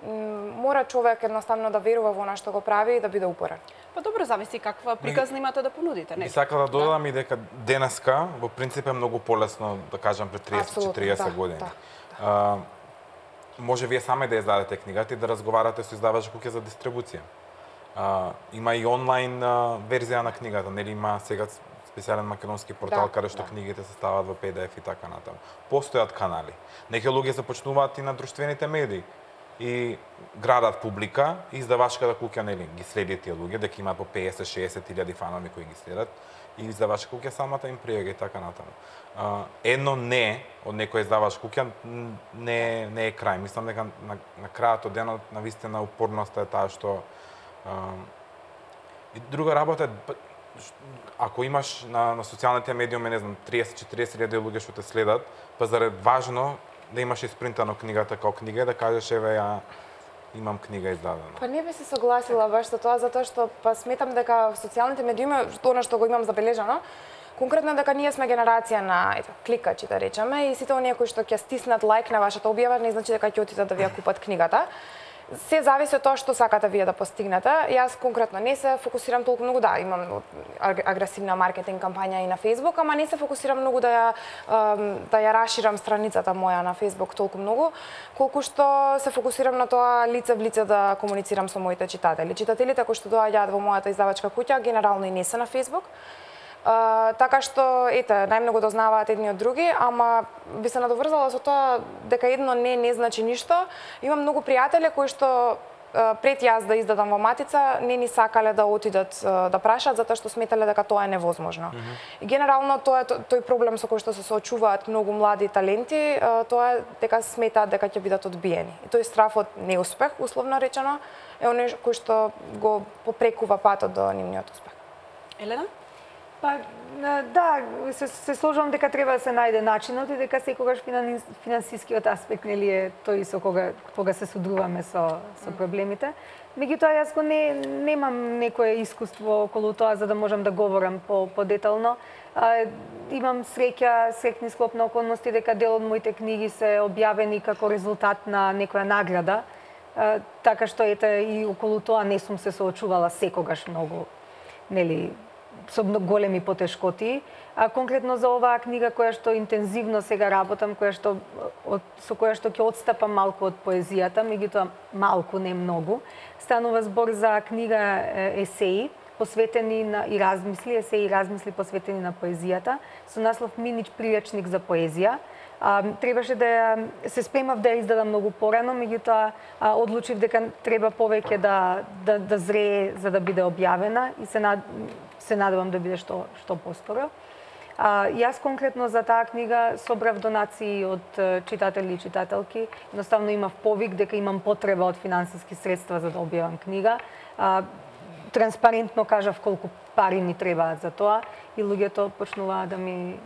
мора човек едноставно да верува во она што го прави и да биде упорен. Па добро, зависи каква приказна имате да понудите, Би нели? сакал да додадам и дека денеска во принцип е многу полесно, да кажам, пред триесет четириесет да, години. да, А, може вие сами да издадете книгата и да разговарате со издавач куќе за дистрибуција. А, има и онлайн а, верзија на книгата, нели има сега специјален македонски портал Да, каде што да. книгите се ставаат во пи ди еф и така натаму. Постојат канали. Некои луѓе започнуваат и на друштвените медии и градат публика, и издавачката куќа нели ги следи тие луѓе, дека има по песет шеесет илјади фанови кои ги следат, и издавачка куќа самата им пријага и така натаму. А, едно не од некој издавач куќа не не е крај. Мислам дека на, на крајот од денот навистина упорноста е таа што а, и друга работа е, ако имаш на, на социјалните медиуми, не знам, триесет четириесет илјади луѓе што те следат, па заред важно да имаш испринтано книгата како книга и да кажеш еве ја имам книга издадена. Па не би се согласила баш со тоа, затоа што па сметам дека социјалните медиуми, она што го имам забележано, конкретно дека ние сме генерација на ето кликачи, да речеме, и сите оние кои што ќе стиснат лайк на вашата објава не значи дека ќе отидат да ви ја купат книгата. Се зависи од тоа што сакате вие да постигнете. Јас конкретно не се фокусирам толку многу, да, имам агресивна маркетинг кампања и на Facebook, ама не се фокусирам многу да ја да ја расширам страницата моја на Facebook толку многу, колку што се фокусирам на тоа лице в лице да комуницирам со моите читатели. Читателите кои што доаѓаат во мојата издавачка куќа генерално и не се на Facebook. Uh, така што, ете, најмногу дознаваат едни од други, ама би се надоврзала со тоа дека едно не не значи ништо. Имам многу пријатели кои што uh, пред јас да издадам во Матица не ни сакале да отидат uh, да прашаат затоа што сметале дека тоа е невозможно. Mm -hmm. И генерално тоа е тој проблем со кој што се соочуваат многу млади таленти, uh, тоа е дека сметаат дека ќе бидат одбиени. И тој страф од неуспех, условно речено, е оној кој што го попрекува патот до нивниот успех. Елена? Па, да, се, се сложувам дека треба да се најде начинот и дека секогаш финансискиот аспект нели е тој со кога кога се содруваме со со проблемите. Меѓутоа јас го не немам некое искуство околу тоа за да можам да говорам по подетално. А, имам среќа, среќни склоп на околности дека дел од моите книги се објавени како резултат на некоја награда. А, така што ете и околу тоа не сум се соочувала секогаш многу, нели, со многу големи потешкоти. А конкретно за оваа книга која што интензивно сега работам, која што од, со која што ќе отстапам малку од поезијата, меѓутоа малку, не многу. Станува збор за книга есеи посветени на и размисли, есеи и размисли посветени на поезијата, со наслов Минич приречник за поезија. А, требаше да се спремав да ја издадам многу порано, меѓутоа одлучив дека треба повеќе да да да зрее за да биде објавена и се над, се надевам да биде што што поскоро. А, јас конкретно за таа книга собрав донации од читатели и читателки. Едноставно имав повик дека имам потреба од финансиски средства за да објавам книга. А, транспарентно кажав колку пари ми требаат за тоа и луѓето почнуваа да ми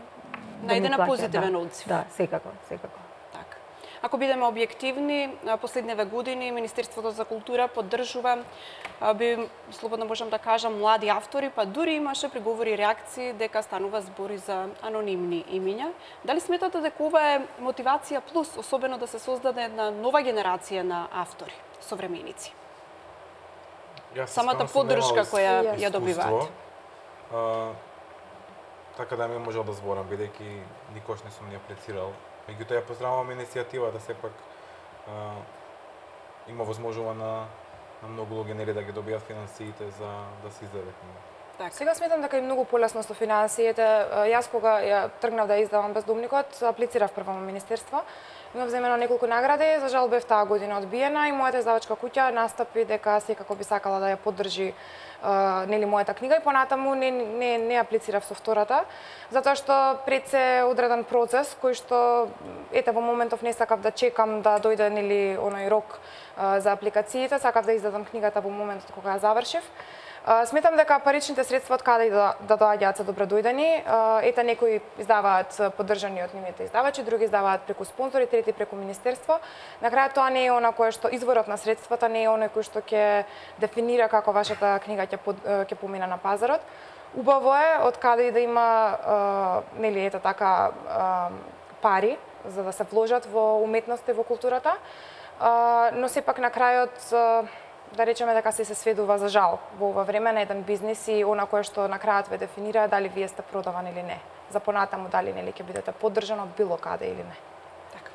Најде на позитивен одзив. Да, секако, секако. Така. Ако бидеме објективни, последниве години Министерството за култура поддржува, би слободно можам да кажам, млади автори, па дури имаше приговори и реакции дека станува збори за анонимни имиња. Дали сметате дека ова е мотивација плюс, особено да се создаде една нова генерација на автори, современици? Самата поддршка која ја добиваат. Така да ми можел да зборам, бидејќи никош не сум ни аплицирал. Меѓутоа ја поздравувам иницијативата, сепак а, има возможува на, на многу луѓе нели да ги добијат финансиите за да се издаде книга. Так. Сега сметам дека е многу полесно со финансиите. Јас кога ја тргнав да издавам Бездомникот, аплицирав прво во министерство. Имав земено неколку награди, за жал бев таа година одбиена и мојата издавачка куќа настапи дека секако би сакала да ја поддржи Uh, нели мојата книга и понатаму не не не аплицирав со втората, затоа што пред се одреден процес кој што ете во моментов не сакав да чекам да дојде нели оној рок uh, за апликациите, сакав да издадам книгата во моментот кога ја завршив. Uh, сметам дека паричните средства од каде и да, да доаѓаат се добро дојдени. Uh, ете некои издаваат поддржани од нивните издавачи, други издаваат преку спонзори, трети преку министерство. На крајот тоа не е она кое што изворот на средствата не е оној кој што ќе дефинира како вашата книга ќе ќе помине на пазарот. Убаво е од каде и да има uh, нели ете така uh, пари за да се вложат во уметноста и во културата. а, но сепак на крајот а, да речеме дека се се сведува за жал во ова време на еден бизнис и она кое што на крајот ве дефинира дали вие сте продаван или не. За понатаму дали нели ќе бидете поддржан од било каде или не. Така.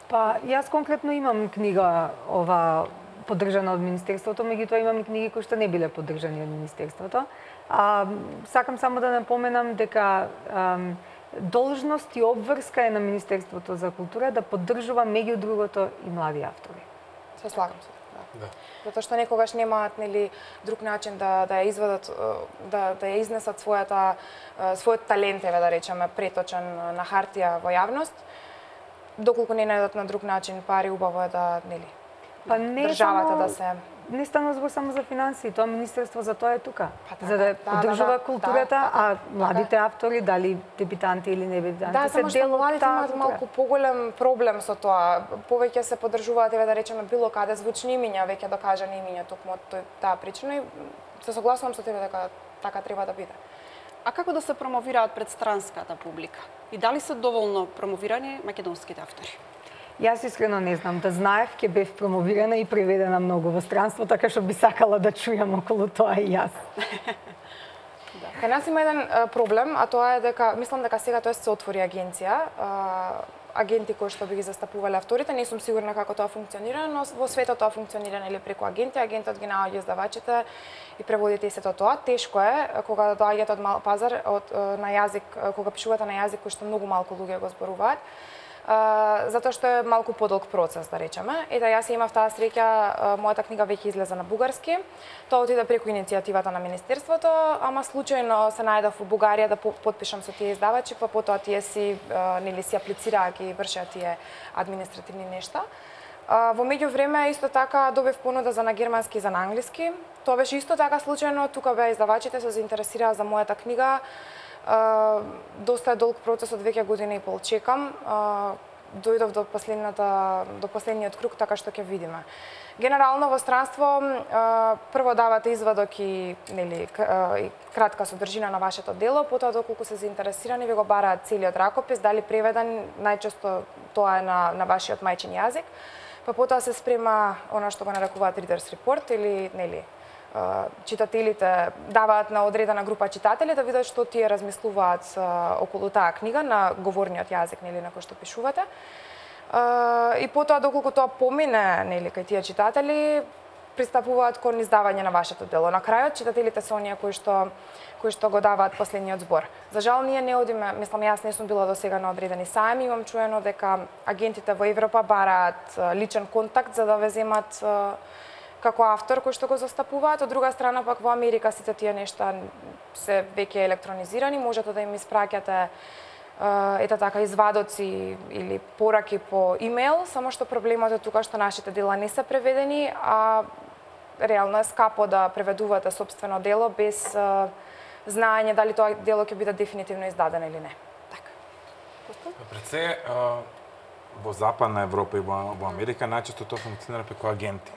Па јас конкретно имам книга ова поддржана од Министерството, меѓутоа имам и книги кои што не биле поддржани од Министерството. А, сакам само да напоменам дека ам, должност и обврска е на Министерството за култура да поддржува меѓу другото и млади автори. Се слагам се. Да. Затоа што некогаш немаат нели друг начин да да ја извадат да да ја изнесат својата својот талент, еве да речеме, преточен на хартија во јавност, доколку не најдат на друг начин пари, убаво е да нели Па не државата само, да се не стана збор само за финансии, тоа министерство за тоа е тука, Па, така, за да да, поддржува да, да, културата, да, а така, младите автори, дали дебитанти или не дебитанти, Да, се само што дел од младите таа имаат култура. малку поголем проблем со тоа. Повеќе се поддржуваат, еве да речеме, било каде звучни имиња, веќе докажани имиња, токму од тој- таа причина и се согласувам со тебе дека така треба да биде. А како да се промовираат пред странската публика? И дали се доволно промовирани македонските автори? Јас искрено не знам, да знаев ќе бев промовирана и преведена многу во странство, така што би сакала да чујам околу тоа и јас. Кај нас има еден а, проблем, а тоа е дека мислам дека сега тоа се отвори агенција, а, агенти кои што би ги застапувале авторите, не сум сигурна како тоа функционира, но во светот тоа функционира нели преку агенти, агентот ги наоѓа издавачите и преводите и сето тоа. Тешко е кога доаѓате од мал пазар, од на јазик, кога пишувате на јазик кој што многу малку луѓе го зборуваат. Uh, затоа што е малку подолг процес, да речеме. Ета, јас имав таа среќа, uh, мојата книга веќе излезе на бугарски. Тоа отиде преку иницијативата на Министерството, ама случајно се најдов во Бугарија да потпишам со тие издавачи, па потоа тие си, uh, нели, си аплицираа, ги вршеа тие административни нешта. Uh, во меѓувреме, исто така, добив понуда за на германски и за на англиски. Тоа беше исто така случајно, тука беа издавачите, се заинтересираа за мојата книга. Uh, доста е долг процесот, веќе година и пол чекам. Uh, дојдов до последната до последниот круг, така што ќе видиме. Генерално во странство uh, прво давате извадок и нели uh, и кратка содржина на вашето дело, потоа доколку се заинтересирани ви го бараат целиот ракопис, дали преведен, најчесто тоа е на на вашиот мајчин јазик, па потоа се спрема она што го нарекуваат readers report или нели читателите даваат на одредена група читатели да видат што тие размислуваат околу таа книга на говорниот јазик, нели, на кој што пишувате. И потоа доколку тоа помине, нели, кај тие читатели, пристапуваат кон издавање на вашето дело. На крајот читателите се оние кои што кои што го даваат последниот збор. За жал ние не одиме, мислам јас не сум била до сега на одредени сајми, имам чуено дека агентите во Европа бараат личен контакт за да ве земат како автор кој што го застапуваат. Од друга страна пак во Америка сите тие нешта се веќе електронизирани, можете да им испраќате ета така извадоци или пораки по имејл, само што проблемот е тука што нашите дела не се преведени, а реално е скапо да преведувате сопствено дело без а, знаење дали тоа дело ќе биде дефинитивно издадено или не. Така. Пред се, во Западна Европа и во, во Америка најчесто тоа функционира преку агенти.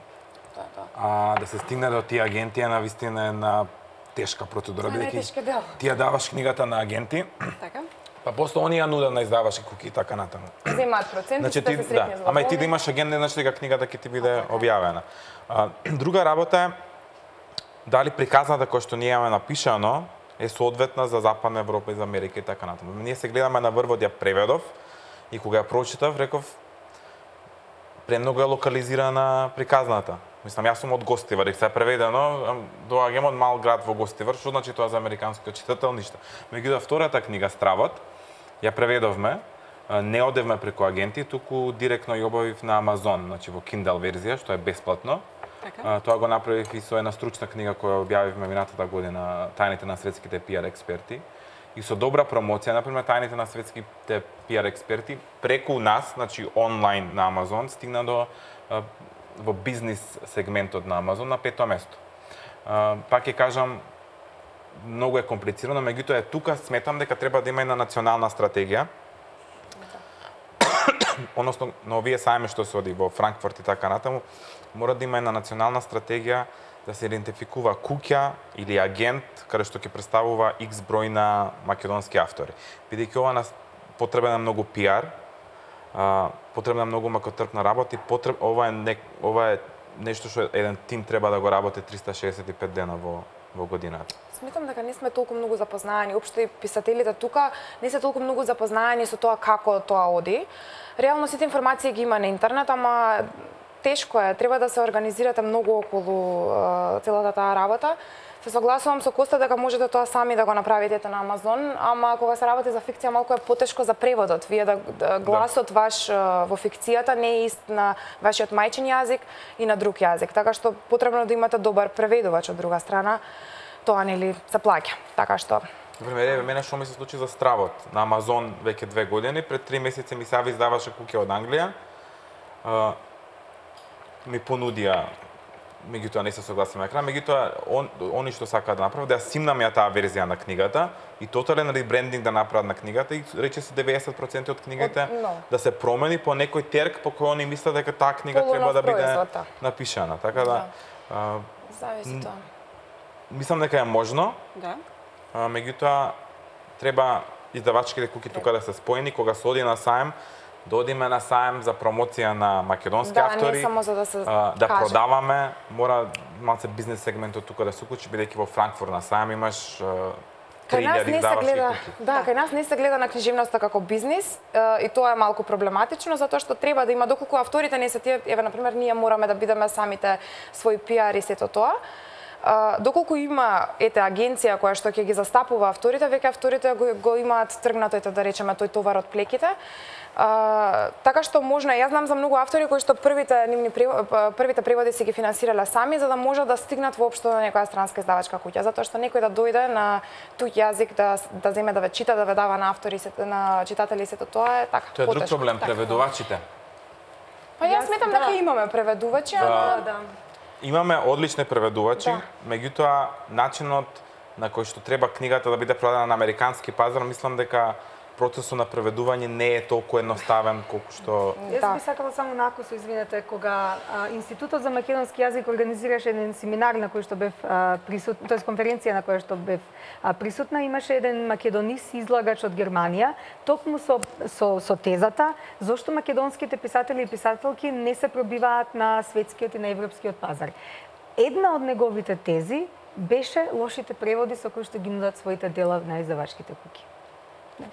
Да, да. А да се стигне до тие агенти е навистина една тешка процедура, бидејќи ти ја даваш книгата на агенти, Така. па после они ја нудат на издавачи куки и така натаму. Земаат проценти, Значи да ти, се да, сретни ама и ти да имаш агент, не значи дека книгата ќе ти биде објавена. А, друга работа е дали приказната која што ние имаме напишано е соодветна за Западна Европа и за Америка и така натаму. Ние се гледаме на врвот, ја преведов и кога ја прочитав, реков премногу е локализирана приказната. Мислам, јас сум од Гостивар, и се е преведено, доаѓам од мал град во Гостивар, што значи тоа за американскиот читател, ништо. Меѓутоа, втората книга, Стравот, ја преведовме, не одевме преку агенти, туку директно ја обавив на Амазон, значи во Kindle верзија, што е бесплатно. Така. Тоа го направив и со една стручна книга која објавивме минатата година, Тајните на светските пиар експерти. И со добра промоција, например, Тајните на светските пиар експерти, преку нас, значи онлайн на Амазон, стигна до во бизнис сегментот на Амазон на пето место. Пак ќе кажам, многу е комплицирано, меѓутоа е тука сметам дека треба да има една национална стратегија. Односно, на овие сајми што се оди во Франкфурт и така натаму, мора да има една национална стратегија да се идентификува куќа или агент каде што ќе представува X број на македонски автори. Бидејќи ова нас потребен е многу пиар, а, потребна многу макотрпна работа и потреб ова е не, ова е нешто што еден тим треба да го работи триста шеесет и пет дена во во годината. Сметам дека не сме толку многу запознаени, општо и писателите тука не се толку многу запознаени со тоа како тоа оди. Реално сите информации ги има на интернет, ама тешко е, треба да се организирате многу околу е, целата таа работа. Се согласувам со Коста дека можете тоа сами да го направите на Амазон, ама кога се работи за фикција малку е потешко за преводот. Вие да, да гласот да. ваш во фикцијата не е ист на вашиот мајчин јазик и на друг јазик, така што потребно да имате добар преведувач од друга страна. Тоа нели се плаќа. Така што Например, еве мене што ми се случи за Стравот на Амазон веќе две години, пред три месеци ми се јави издаваше куќа од Англија. Uh, ми понудија, меѓутоа не се согласив на екран, меѓутоа он, они што сакаат да направат да ја симнам ја таа верзија на книгата и тотален ребрендинг да направат на книгата и рече се деветдесет проценти од книгите no. да се промени по некој терк по кој они мислат дека таа книга Полу треба да биде производа. напишана. Така да, да. Uh, зависи тоа. Мислам дека е можно. Да. А, меѓутоа треба издавачките куќи тука да се споени кога се оди на сајм, да одиме на сајм за промоција на македонски да, автори, не само за да се а, да каже. продаваме, мора малце бизнес сегментот тука да се уклучи, бидејќи во Франкфурт на сајм имаш Кај нас не се гледа, куќи. да, кај нас не се гледа на книжевноста како бизнис и тоа е малку проблематично затоа што треба да има доколку авторите не се тие, еве на пример ние мораме да бидеме самите свој пиар и сето тоа. Uh, доколку има ете агенција која што ќе ги застапува авторите, веќе авторите го, го имаат тргнато ете да речеме тој товар од плеките. Uh, така што можно, јас знам за многу автори кои што првите нивни првите преводи си ги финансирале сами за да можат да стигнат воопшто до некоја странска издавачка куќа, затоа што некој да дојде на туѓ јазик да да земе да ве чита, да ве дава на автори на читатели сето тоа е така. Тоа е друг проблем, преведувачите. Па јас сметам дека да. имаме преведувачи, да. ама да. Имаме одлични преведувачи, да. меѓутоа начинот на кој што треба книгата да биде продадена на американски пазар, мислам дека процесот на преведување не е толку едноставен колку што Јас да. би сакала само накусо, извинете, кога а, Институтот за македонски јазик организираше еден семинар на кој што бев а, присутна, тоест конференција на која што бев а, присутна, имаше еден македонист излагач од Германија, токму со со со тезата зошто македонските писатели и писателки не се пробиваат на светскиот и на европскиот пазар. Една од неговите тези беше лошите преводи со кои што ги нудат своите дела на издавачките куќи.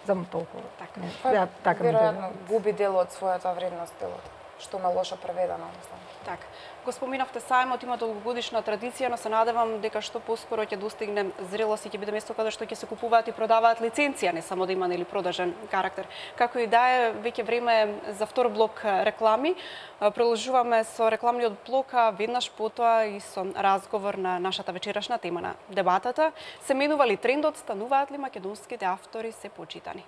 Само толку. Така. Па, ја, така веројатно губи дел од својата вредност делот, што ме лошо преведено, мислам. Така. Го споминавте сајмот, има долгогодишна традиција, но се надевам дека што поскоро ќе достигне зрелост и ќе биде место каде што ќе се купуваат и продаваат лиценција, не само да има нели продажен карактер. Како и да е, веќе време за втор блок реклами. Продолжуваме со рекламниот блок, а веднаш потоа и со разговор на нашата вечерашна тема на дебатата. Се менува ли трендот, стануваат ли македонските автори се почитани?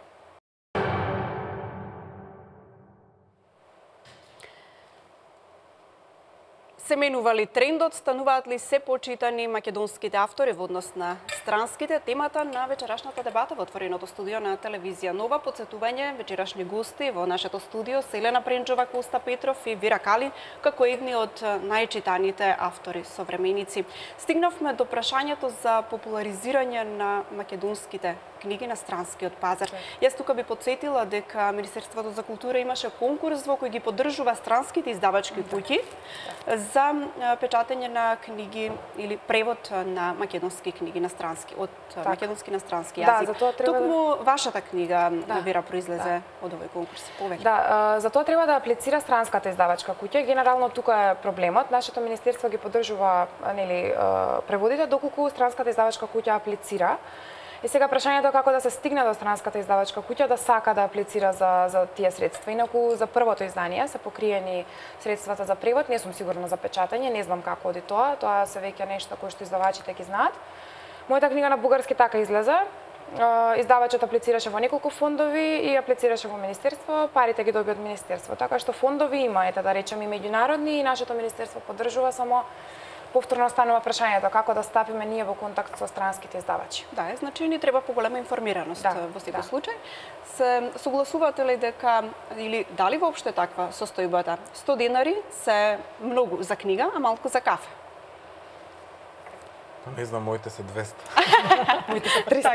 Се менува ли трендот, стануваат ли се почитани македонските автори во однос на странските? Темата на вечерашната дебата во отвореното студио на телевизија Нова. Подсетување, вечерашни гости во нашето студио се Елена Пренџова, Коста Петров и Вира Калин, како едни од најчитаните автори современици. Стигнавме до прашањето за популаризирање на македонските книги на странскиот пазар. Јас тука би подсетила дека Министерството за култура имаше конкурс во кој ги поддржува странските издавачки куќи за печатење на книги или превод на македонски книги на странски од так. македонски на странски јазик. Да, за тоа треба Токму да... вашата книга да. Вера произлезе да. од овој конкурс. Повеќе. Да, за тоа треба да аплицира странската издавачка куќа. Генерално тука е проблемот. Нашето министерство ги поддржува нели преводите доколку странската издавачка куќа аплицира. И сега прашањето е како да се стигне до странската издавачка куќа да сака да аплицира за за тие средства. Инаку за првото издание се покриени средствата за превод, не сум сигурна за печатање, не знам како оди тоа, тоа се веќе нешто кои што издавачите ги знаат. Мојата книга на бугарски така излезе. Издавачот аплицираше во неколку фондови и аплицираше во министерство, парите ги доби од министерство. Така што фондови има, ете да речем и меѓународни, и нашето министерство поддржува, само повторно станува прашањето како да стапиме ние во контакт со странските издавачи. Да, е, значи ни треба поголема информираност да, во секој да. случај. Се согласувате ли дека или дали воопште таква состојбата? сто денари се многу за книга, а малку за кафе. Не знам, моите се двеста. Моите се триста.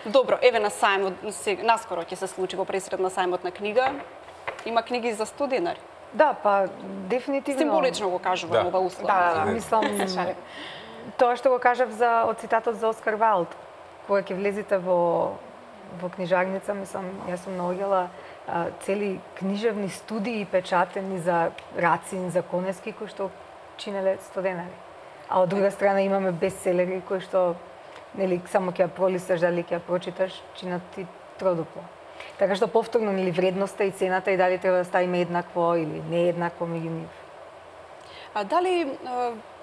Добро, еве на сајмот, наскоро ќе се случи во пресрет на сајмот на книга. Има книги за сто денари. Да, па дефинитивно. Символично го кажувам Да. ова услов. Да, мислам, тоа што го кажав за од цитатот за Оскар Вайлд, кога ќе влезете во во книжарница, мислам, јас сум наоѓала а, цели книжевни студии печатени за Рацин, за Конески, кои што чинеле сто денари. А од друга страна имаме бестселери кои што нели само ќе ја пролисташ, дали ќе ја прочиташ, чинат ти тродупло. Така што повторно нели вредноста и цената и дали треба да ставиме еднакво или не еднакво меѓу нив. А дали е,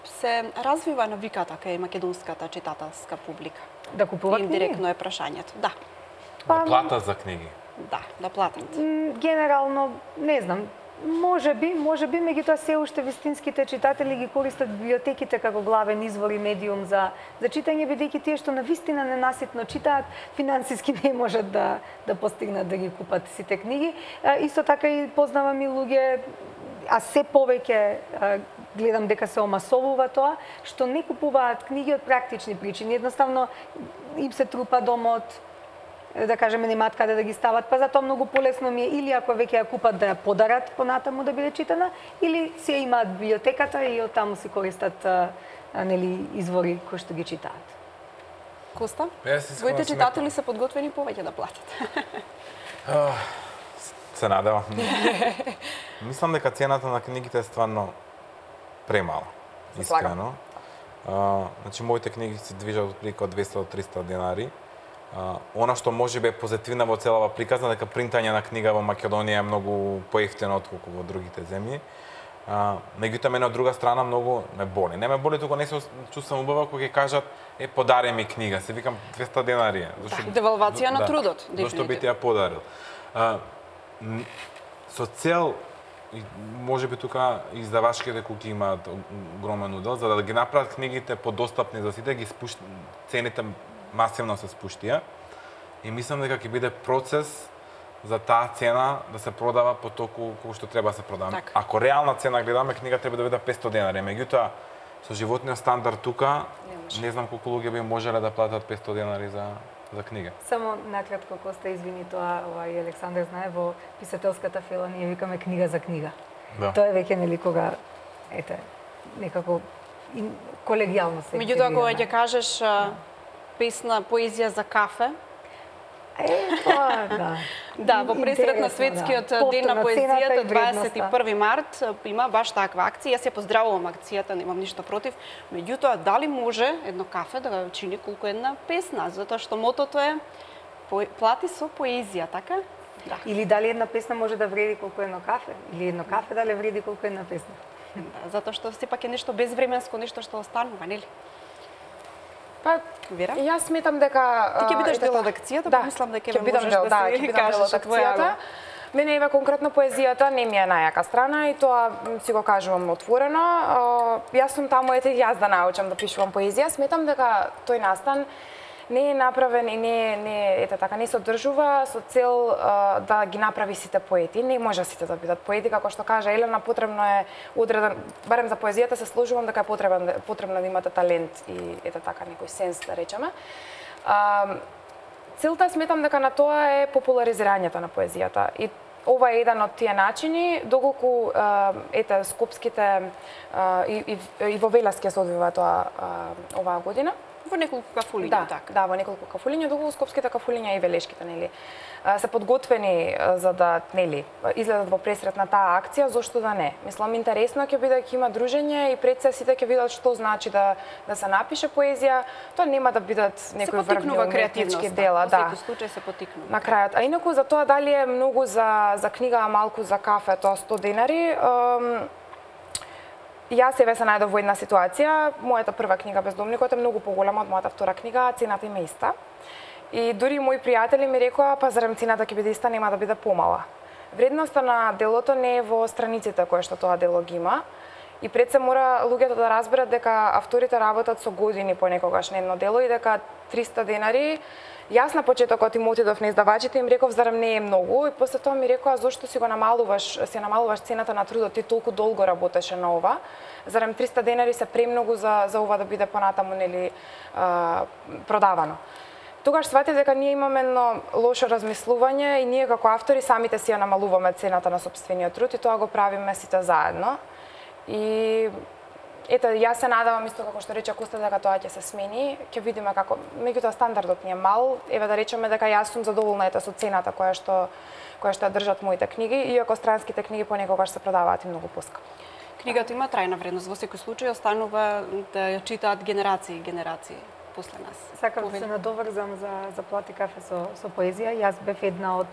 се развива навиката кај македонската читателска публика? Да купува книги? Индиректно е прашањето. Да. Да платат за книги. Да, да платат. М, Генерално, не знам, може би, може би, меѓутоа се уште вистинските читатели ги користат библиотеките како главен извор и медиум за за читање, бидејќи тие што навистина ненаситно читаат, финансиски не можат да да постигнат да ги купат сите книги. А, исто така и познавам и луѓе, а се повеќе а, гледам дека се омасовува тоа, што не купуваат книги од практични причини. Едноставно им се трупа домот, да кажеме, немаат каде да ги стават, па затоа многу полесно ми е или ако веќе ја купат да ја подарат понатаму да биде читана, или се имаат библиотеката и од таму си користат а, а, нели извори кои што ги читаат. Коста? Јас искрено Твоите сметам. читатели се подготвени повеќе да платат. Се надевам. Мислам дека цената на книгите е стварно премала. Искрено. А, значи моите книги се движат отприлика од двесте до триста денари. А, она што може би е позитивна во целава приказна, дека принтање на книга во Македонија е многу поевтино отколку во другите земји. А, меѓутоа мене од друга страна многу ме боли. Не ме боли, туку не се чувствам убава кога ќе кажат е подари ми книга. Се викам двесте денари е. Зашто Девалвација на трудот, Зашто дефинитивно. би ти ја подарил? А, м, со цел и може би тука издавачките куки имаат огромен удел за да ги направат книгите подостапни за сите, ги спушт... цените масивно се спуштија и мислам дека ќе биде процес за таа цена да се продава по толку колку што треба да се продава. Так. Ако реална цена гледаме, книга треба да биде петсто денари, меѓутоа со животниот стандард тука Не не знам колку луѓе би можеле да платат петсто денари за за книга. Само накратко, Коста, извини, тоа ова и Александар знае, во писателската фела ние викаме книга за книга. Да. Тоа е веќе нели кога ете некако ин, колегијално се. Меѓутоа кога интегрираме. ќе кажеш а, песна поезија за кафе, Е, тоа, да. да, во пресрет на Интересно, светскиот да. ден на Повторно, цената поезијата и дваесет и вредноста. први март има баш таква акција. Јас ја поздравувам акцијата, немам ништо против. Меѓутоа, дали може едно кафе да го чини колку една песна, затоа што мотото е по- плати со поезија, така? Да. Или дали една песна може да вреди колку едно кафе, или едно кафе дали вреди колку една песна. Да, затоа што сепак е нешто безвременско, нешто што останува, нели? Па, Вера? јас сметам дека Ти ќе бидеш а, дел ете од та- акцијата, да, па мислам дека ќе еве бидам можеш дел, да да, си ќе бидам дел кажеш од твоја акцијата. Мене еве конкретно поезијата не ми е најака страна и тоа м, си го кажувам отворено. А, Јас сум таму ете јас да научам да пишувам поезија. Сметам дека тој настан не е направен и не не ете така не се одржува со цел а, да ги направи сите поети. Не може сите да бидат поети, како што кажа Елена, потребно е одреден, барем за поезијата се сложувам дека е потребен потребно да имате талент и ете така некој сенс да речеме. А, целта сметам дека на тоа е популаризирањето на поезијата и ова е еден од тие начини, доколку а, ете скопските а, и, и, и во Велески се одвива тоа а, оваа година. Во неколку кафулиња, Да, така. да, во неколку кафулиња, доколку скопските кафулиња и велешките, нели, а, се подготвени а, за да, нели, излезат во пресрет на таа акција, зошто да не? Мислам, интересно ќе биде, ќе има дружење и пред се сите ќе видат што значи да да се напише поезија. Тоа нема да бидат Се некои врвни потикнува уметнички креативноста. дела, Во да. секој случај се потикнува. На крајот. А инаку за тоа дали е многу за за книга, а малку за кафе, тоа сто денари, ем, јас себе се најдов во една ситуација. Мојата прва книга Бездомникот е многу поголема од мојата втора книга, а цената им е иста. И дури мои пријатели ми рекоа, па зарем цената ќе биде иста, нема да биде помала. Вредноста на делото не е во страниците кои што тоа дело ги има. И пред се мора луѓето да разберат дека авторите работат со години понекогаш на едно дело и дека триста денари. Јас на почетокот им отидов на издавачите и им реков зарем не е многу и после тоа ми рекоа зошто си го намалуваш, си намалуваш цената на трудот, ти толку долго работеше на ова. Зарем триста денари се премногу за за ова да биде понатаму нели а, продавано. тогаш сватив дека ние имаме едно лошо размислување и ние како автори самите си ја намалуваме цената на сопствениот труд и тоа го правиме сите заедно. И ето, јас се надавам исто како што рече Коста дека тоа ќе се смени, ќе видиме како, меѓутоа стандардот ни е мал, еве да речеме дека јас сум задоволна ете со цената која што која што ја држат моите книги, иако странските книги понекогаш се продаваат и многу поскапо. Книгата има трајна вредност, во секој случај останува да ја читаат генерации и генерации после нас. Сакам да се надоврзам за за Плати кафе со со поезија. Јас бев една од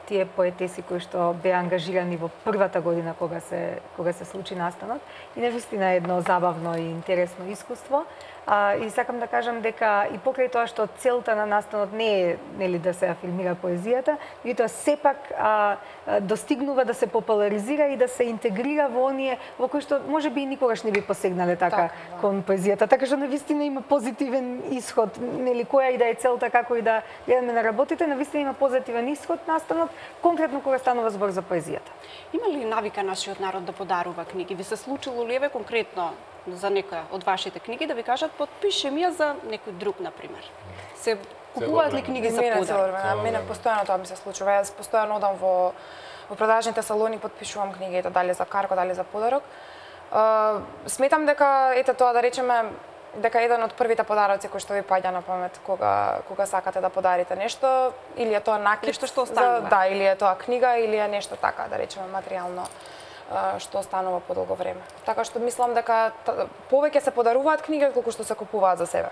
тие поетеси кои што беа ангажирани во првата година кога се кога се случи настанот и навистина е едно забавно и интересно искуство. А, и сакам да кажам дека и покрај тоа што целта на настанот не е нели да се афирмира поезијата, меѓутоа сепак а, а, достигнува да се популаризира и да се интегрира во оние во кои што можеби и никогаш не би посегнале така, така да. Кон поезијата. Така што навистина има позитивен исход, нели која и да е целта како и да гледаме на работите, навистина има позитивен исход настанот, конкретно кога станува збор за поезијата. Има ли навика нашиот народ да подарува книги? Ви се случило ли еве конкретно за некоја од вашите книги да ви кажат подпиши ми ја за некој друг на пример? Се купуваат ли книги за подарок? Мене постојано тоа ми се случува. Јас постојано одам во во продажните салони, подпишувам книги, дали за карго, дали за подарок. Uh, сметам дека ете тоа да речеме дека еден од првите подароци кои што ви паѓа на памет кога кога сакате да подарите нешто, или е тоа накид, нешто што останува. Да, или е тоа книга, или е нешто така, да речеме материјално што останува подолго време. Така што мислам дека повеќе се подаруваат книги отколку што се купуваат за себе.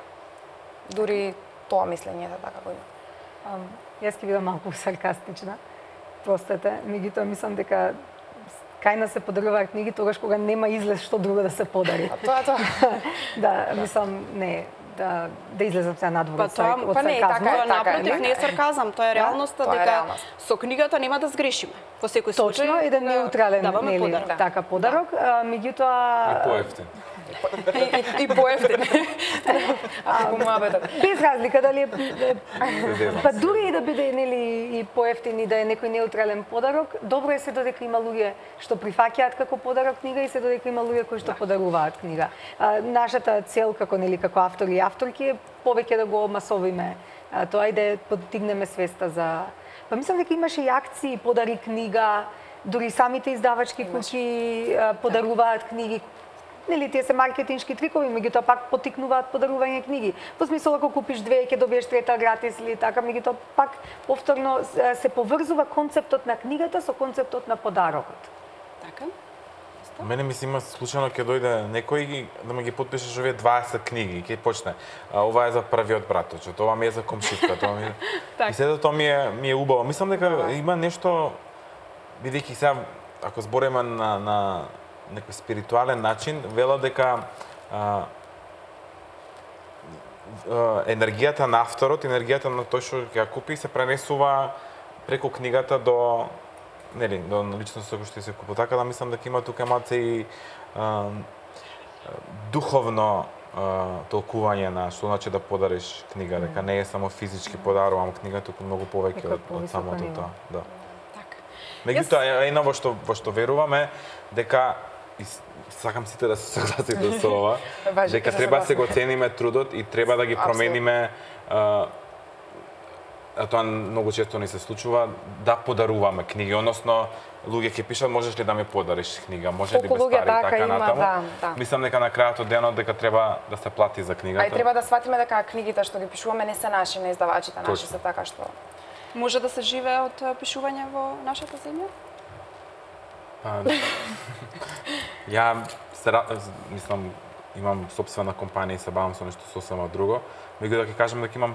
Дури тоа мислење е така го има. Um, јас ќе бидам малку саркастична. Простете, меѓутоа мислам дека кај нас се подаруваат книги тогаш кога нема излез што друго да се подари. А тоа тоа. Да, мислам не да да излезам сега надвор од сарказмот. Па не, така е, напротив, не е сарказам, тоа е реалноста дека со книгата нема да сгрешиме. Во секој случај точно еден неутрален нели така подарок, меѓутоа и поевтин. И поевтин. Ако муабетот. Без разлика дали е па дури и да биде нели и поевтин и да е некој неутрален подарок, добро е се додека има луѓе што прифаќаат како подарок книга и се додека има луѓе кои што подаруваат книга. Нашата цел како нели како автори и авторки е повеќе да го масовиме тоа и да подигнеме свеста за. Па мислам дека имаше и акции подари книга, дури самите издавачки куќи подаруваат книги. Нели тие се маркетиншки трикови, меѓутоа пак поттикнуваат подарување книги. Во смисла ако купиш две ќе добиеш трета гратис или така, меѓутоа пак повторно се поврзува концептот на книгата со концептот на подарокот. Така. Мене ми се има случајно ќе дојде некој да ме ги подпишеш овие дваесет книги, ќе почне. А, ова е за првиот браточот, ова ми е за комшиска, тоа ми е. И сето тоа ми е ми е убаво. Мислам дека има нешто, бидејќи сега ако збориме на на некој спиритуален начин, вела дека а, а, енергијата на авторот, енергијата на тој што ќе ја купи се пренесува преку книгата до нели, до личноста кој што се купува. Така да мислам дека има тука малце и а, духовно а, толкување на што значи да подариш книга, дека не е само физички подарувам книга, туку многу повеќе од, од самото тоа. Да. Така. Меѓутоа, едно во што во што веруваме дека и сакам сите да се согласите со ова, дека треба да се го цениме трудот и треба да ги промениме а, а тоа многу често ни се случува, да подаруваме книги, односно луѓе ќе пишат можеш ли да ми подариш книга, може ли без пари, така има, натаму. Да, да. Мислам дека на крајот од денот дека треба да се плати за книгата. А и треба да сватиме дека книгите што ги пишуваме не се наши, не издавачите наши се така што. Може да се живее од пишување во нашата земја? Ја се, мислам, имам собствена компанија и се бавам со нешто сосема друго. Меѓутоа ќе кажам дека имам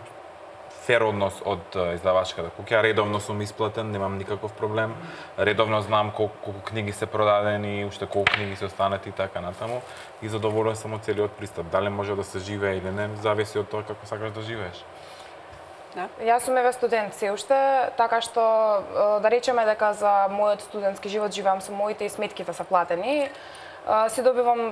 фер однос од издавачката куќа, редовно сум исплатен, немам никаков проблем. Редовно знам колку, колку книги се продадени, уште колку книги се останати и така натаму. И задоволен сум од целиот пристап. Дали може да се живее или не, зависи од тоа како сакаш да живееш. Да. Јас сум еве студент се уште, така што да речеме дека за мојот студентски живот живеам со моите и сметките се платени. Се добивам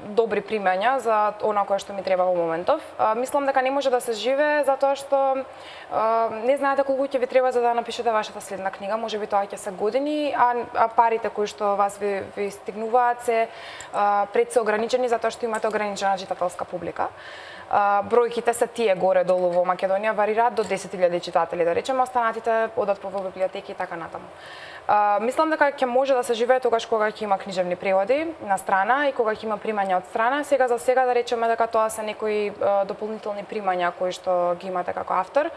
добри примања за она кое што ми треба во моментов. А, мислам дека не може да се живее затоа што а, не знаете колку ќе ви треба за да напишете вашата следна книга, можеби тоа ќе се години, а, а парите кои што вас ви, ви стигнуваат се а, пред се ограничени затоа што имате ограничена читателска публика. Uh, бројките се тие горе-долу во Македонија, варираат до десет илјади читатели, да речеме, останатите одат по библиотеки и така натаму. Uh, мислам дека ќе може да се живее тогаш кога ќе има книжевни преводи на страна и кога ќе има примања од страна. Сега за сега да речеме дека тоа се некои uh, дополнителни примања кои што ги имате како автор.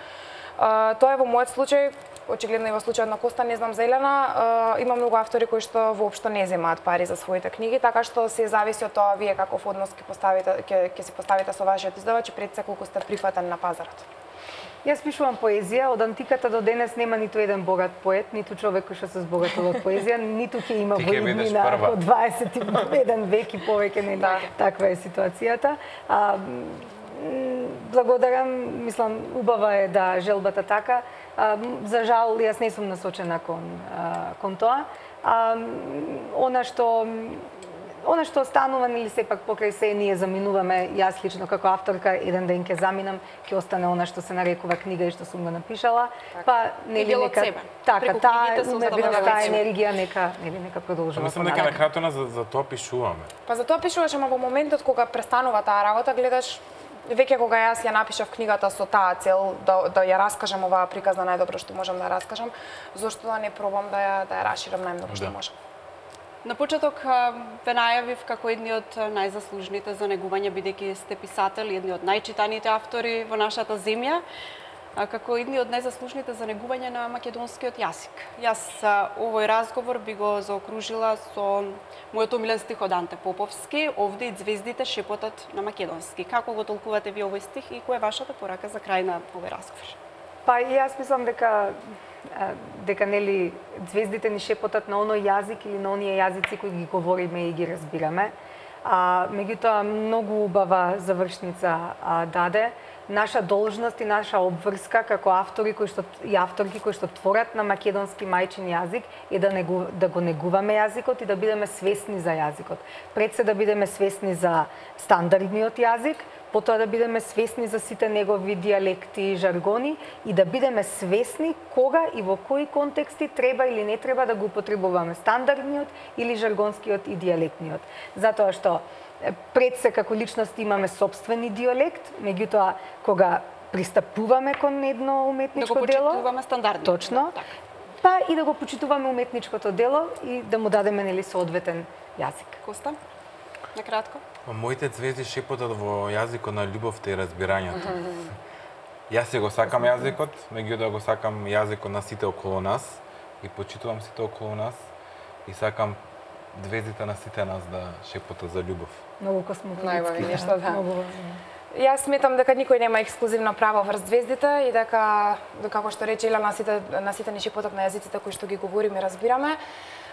Uh, тоа е во мојот случај, очигледно и во случајот на Коста, не знам за Елена, uh, има многу автори кои што воопшто не земаат пари за своите книги, така што се зависи од тоа вие каков однос ќе поставите, ќе ќе си поставите со вашиот издавач и пред се колку сте прифатен на пазарот. Јас пишувам поезија, од антиката до денес нема ниту еден богат поет, ниту човек кој што се збогатил од поезија, ниту ќе има во иднина од дваесет и еден век и повеќе, не да. Таква е ситуацијата. А, благодарам, мислам, убава е да желбата така. А, за жал, јас не сум насочена кон, а, кон тоа. А, она што Она што останува, или сепак покрај се ние заминуваме, јас лично како авторка еден ден ќе заминам, ќе остане она што се нарекува книга и што сум го напишала. Так. Па нели нека така таа таа енергија нека нели нека продолжува. Мислам дека на крајот на за, за тоа пишуваме. Па за тоа пишуваш, ама во моментот кога престанува таа работа, гледаш веќе кога јас ја напишав книгата со таа цел да да ја раскажам оваа приказна најдобро што можам да ја раскажам, зошто да не пробам да ја да ја расширам најмногу што можам. На почеток ве најавив како едни од најзаслужните за негување, бидејќи сте писател, едни од најчитаните автори во нашата земја, како едни од најзаслужните за негување на македонскиот јазик. Јас овој разговор би го заокружила со мојот омилен стих од Анте Поповски, овде и звездите шепотат на македонски. Како го толкувате ви овој стих и која е вашата порака за крај на овој разговор? Па јас мислам дека дека нели звездите ни шепотат на оној јазик или на оние јазици кои ги говориме и ги разбираме. А меѓутоа многу убава завршница а, даде. Наша должност и наша обврска како автори кои што и авторки кои што творат на македонски мајчин јазик е да негу, да го негуваме јазикот и да бидеме свесни за јазикот. Пред се да бидеме свесни за стандардниот јазик, потоа да бидеме свесни за сите негови дијалекти и жаргони и да бидеме свесни кога и во кои контексти треба или не треба да го употребуваме стандардниот или жаргонскиот и дијалектниот. Затоа што пред се како личност имаме собствени дијалект, меѓутоа кога пристапуваме кон едно уметничко дело, да го почитуваме стандардно. Точно. Да, па и да го почитуваме уметничкото дело и да му дадеме нели соодветен јазик. Коста, на кратко. Моите звезди шепотат во јазикот на љубовта и разбирањето. Јас се го сакам јазикот, меѓутоа го сакам јазикот на сите околу нас и почитувам сите околу нас и сакам звездите на сите нас да шепотат за љубов. Многу космополитски. Најважно нешто, да. Многу Јас сметам дека никој нема ексклузивно право врз звездите и дека, како што рече Елена, на сите, на сите ни шепотат на јазиците кои што ги говориме и разбираме.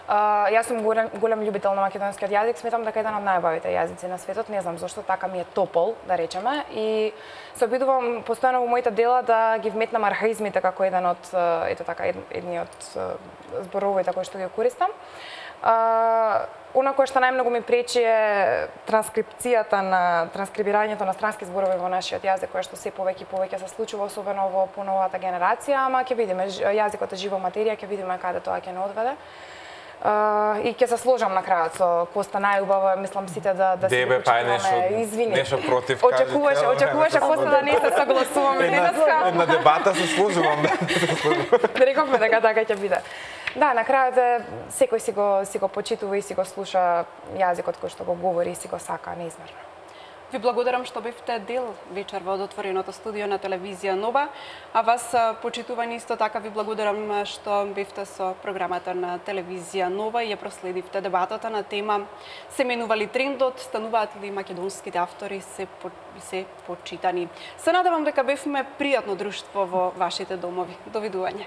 Uh, јас сум голем, голем љубител на македонскиот јазик, сметам дека е еден од најубавите јазици на светот, не знам зошто, така ми е топол, да речеме, и се обидувам постојано во моите дела да ги вметнам архаизмите како еден од, ето така, едни од зборовите кои што ги користам. Uh, Она кое што најмногу ми пречи е транскрипцијата на транскрибирањето на странски зборови во нашиот јазик, кое што се повеќе и повеќе се случува, особено во поновата генерација, ама ќе видиме, јазикот е жива материја, ќе видиме каде тоа ќе не одведе. Uh, и ќе се сложам на крајот со Коста, најубаво, мислам сите да да се почитуваме. Извини. Нешто против кажете. Очекуваше, очекуваше Коста да не се согласуваме денеска. На дебата се сложувам. Да рековме дека така ќе биде. Да, на крајот е секој си го си го почитува и си го слуша јазикот кој што го говори и си го сака неизмерно. Ви благодарам што бевте дел вечер во отвореното студио на телевизија Нова, а вас почитувани исто така ви благодарам што бевте со програмата на телевизија Нова и ја проследивте дебатата на тема се менува ли трендот, стануваат ли македонските автори се по, се почитани. Се надевам дека бевме пријатно друштво во вашите домови. Довидување.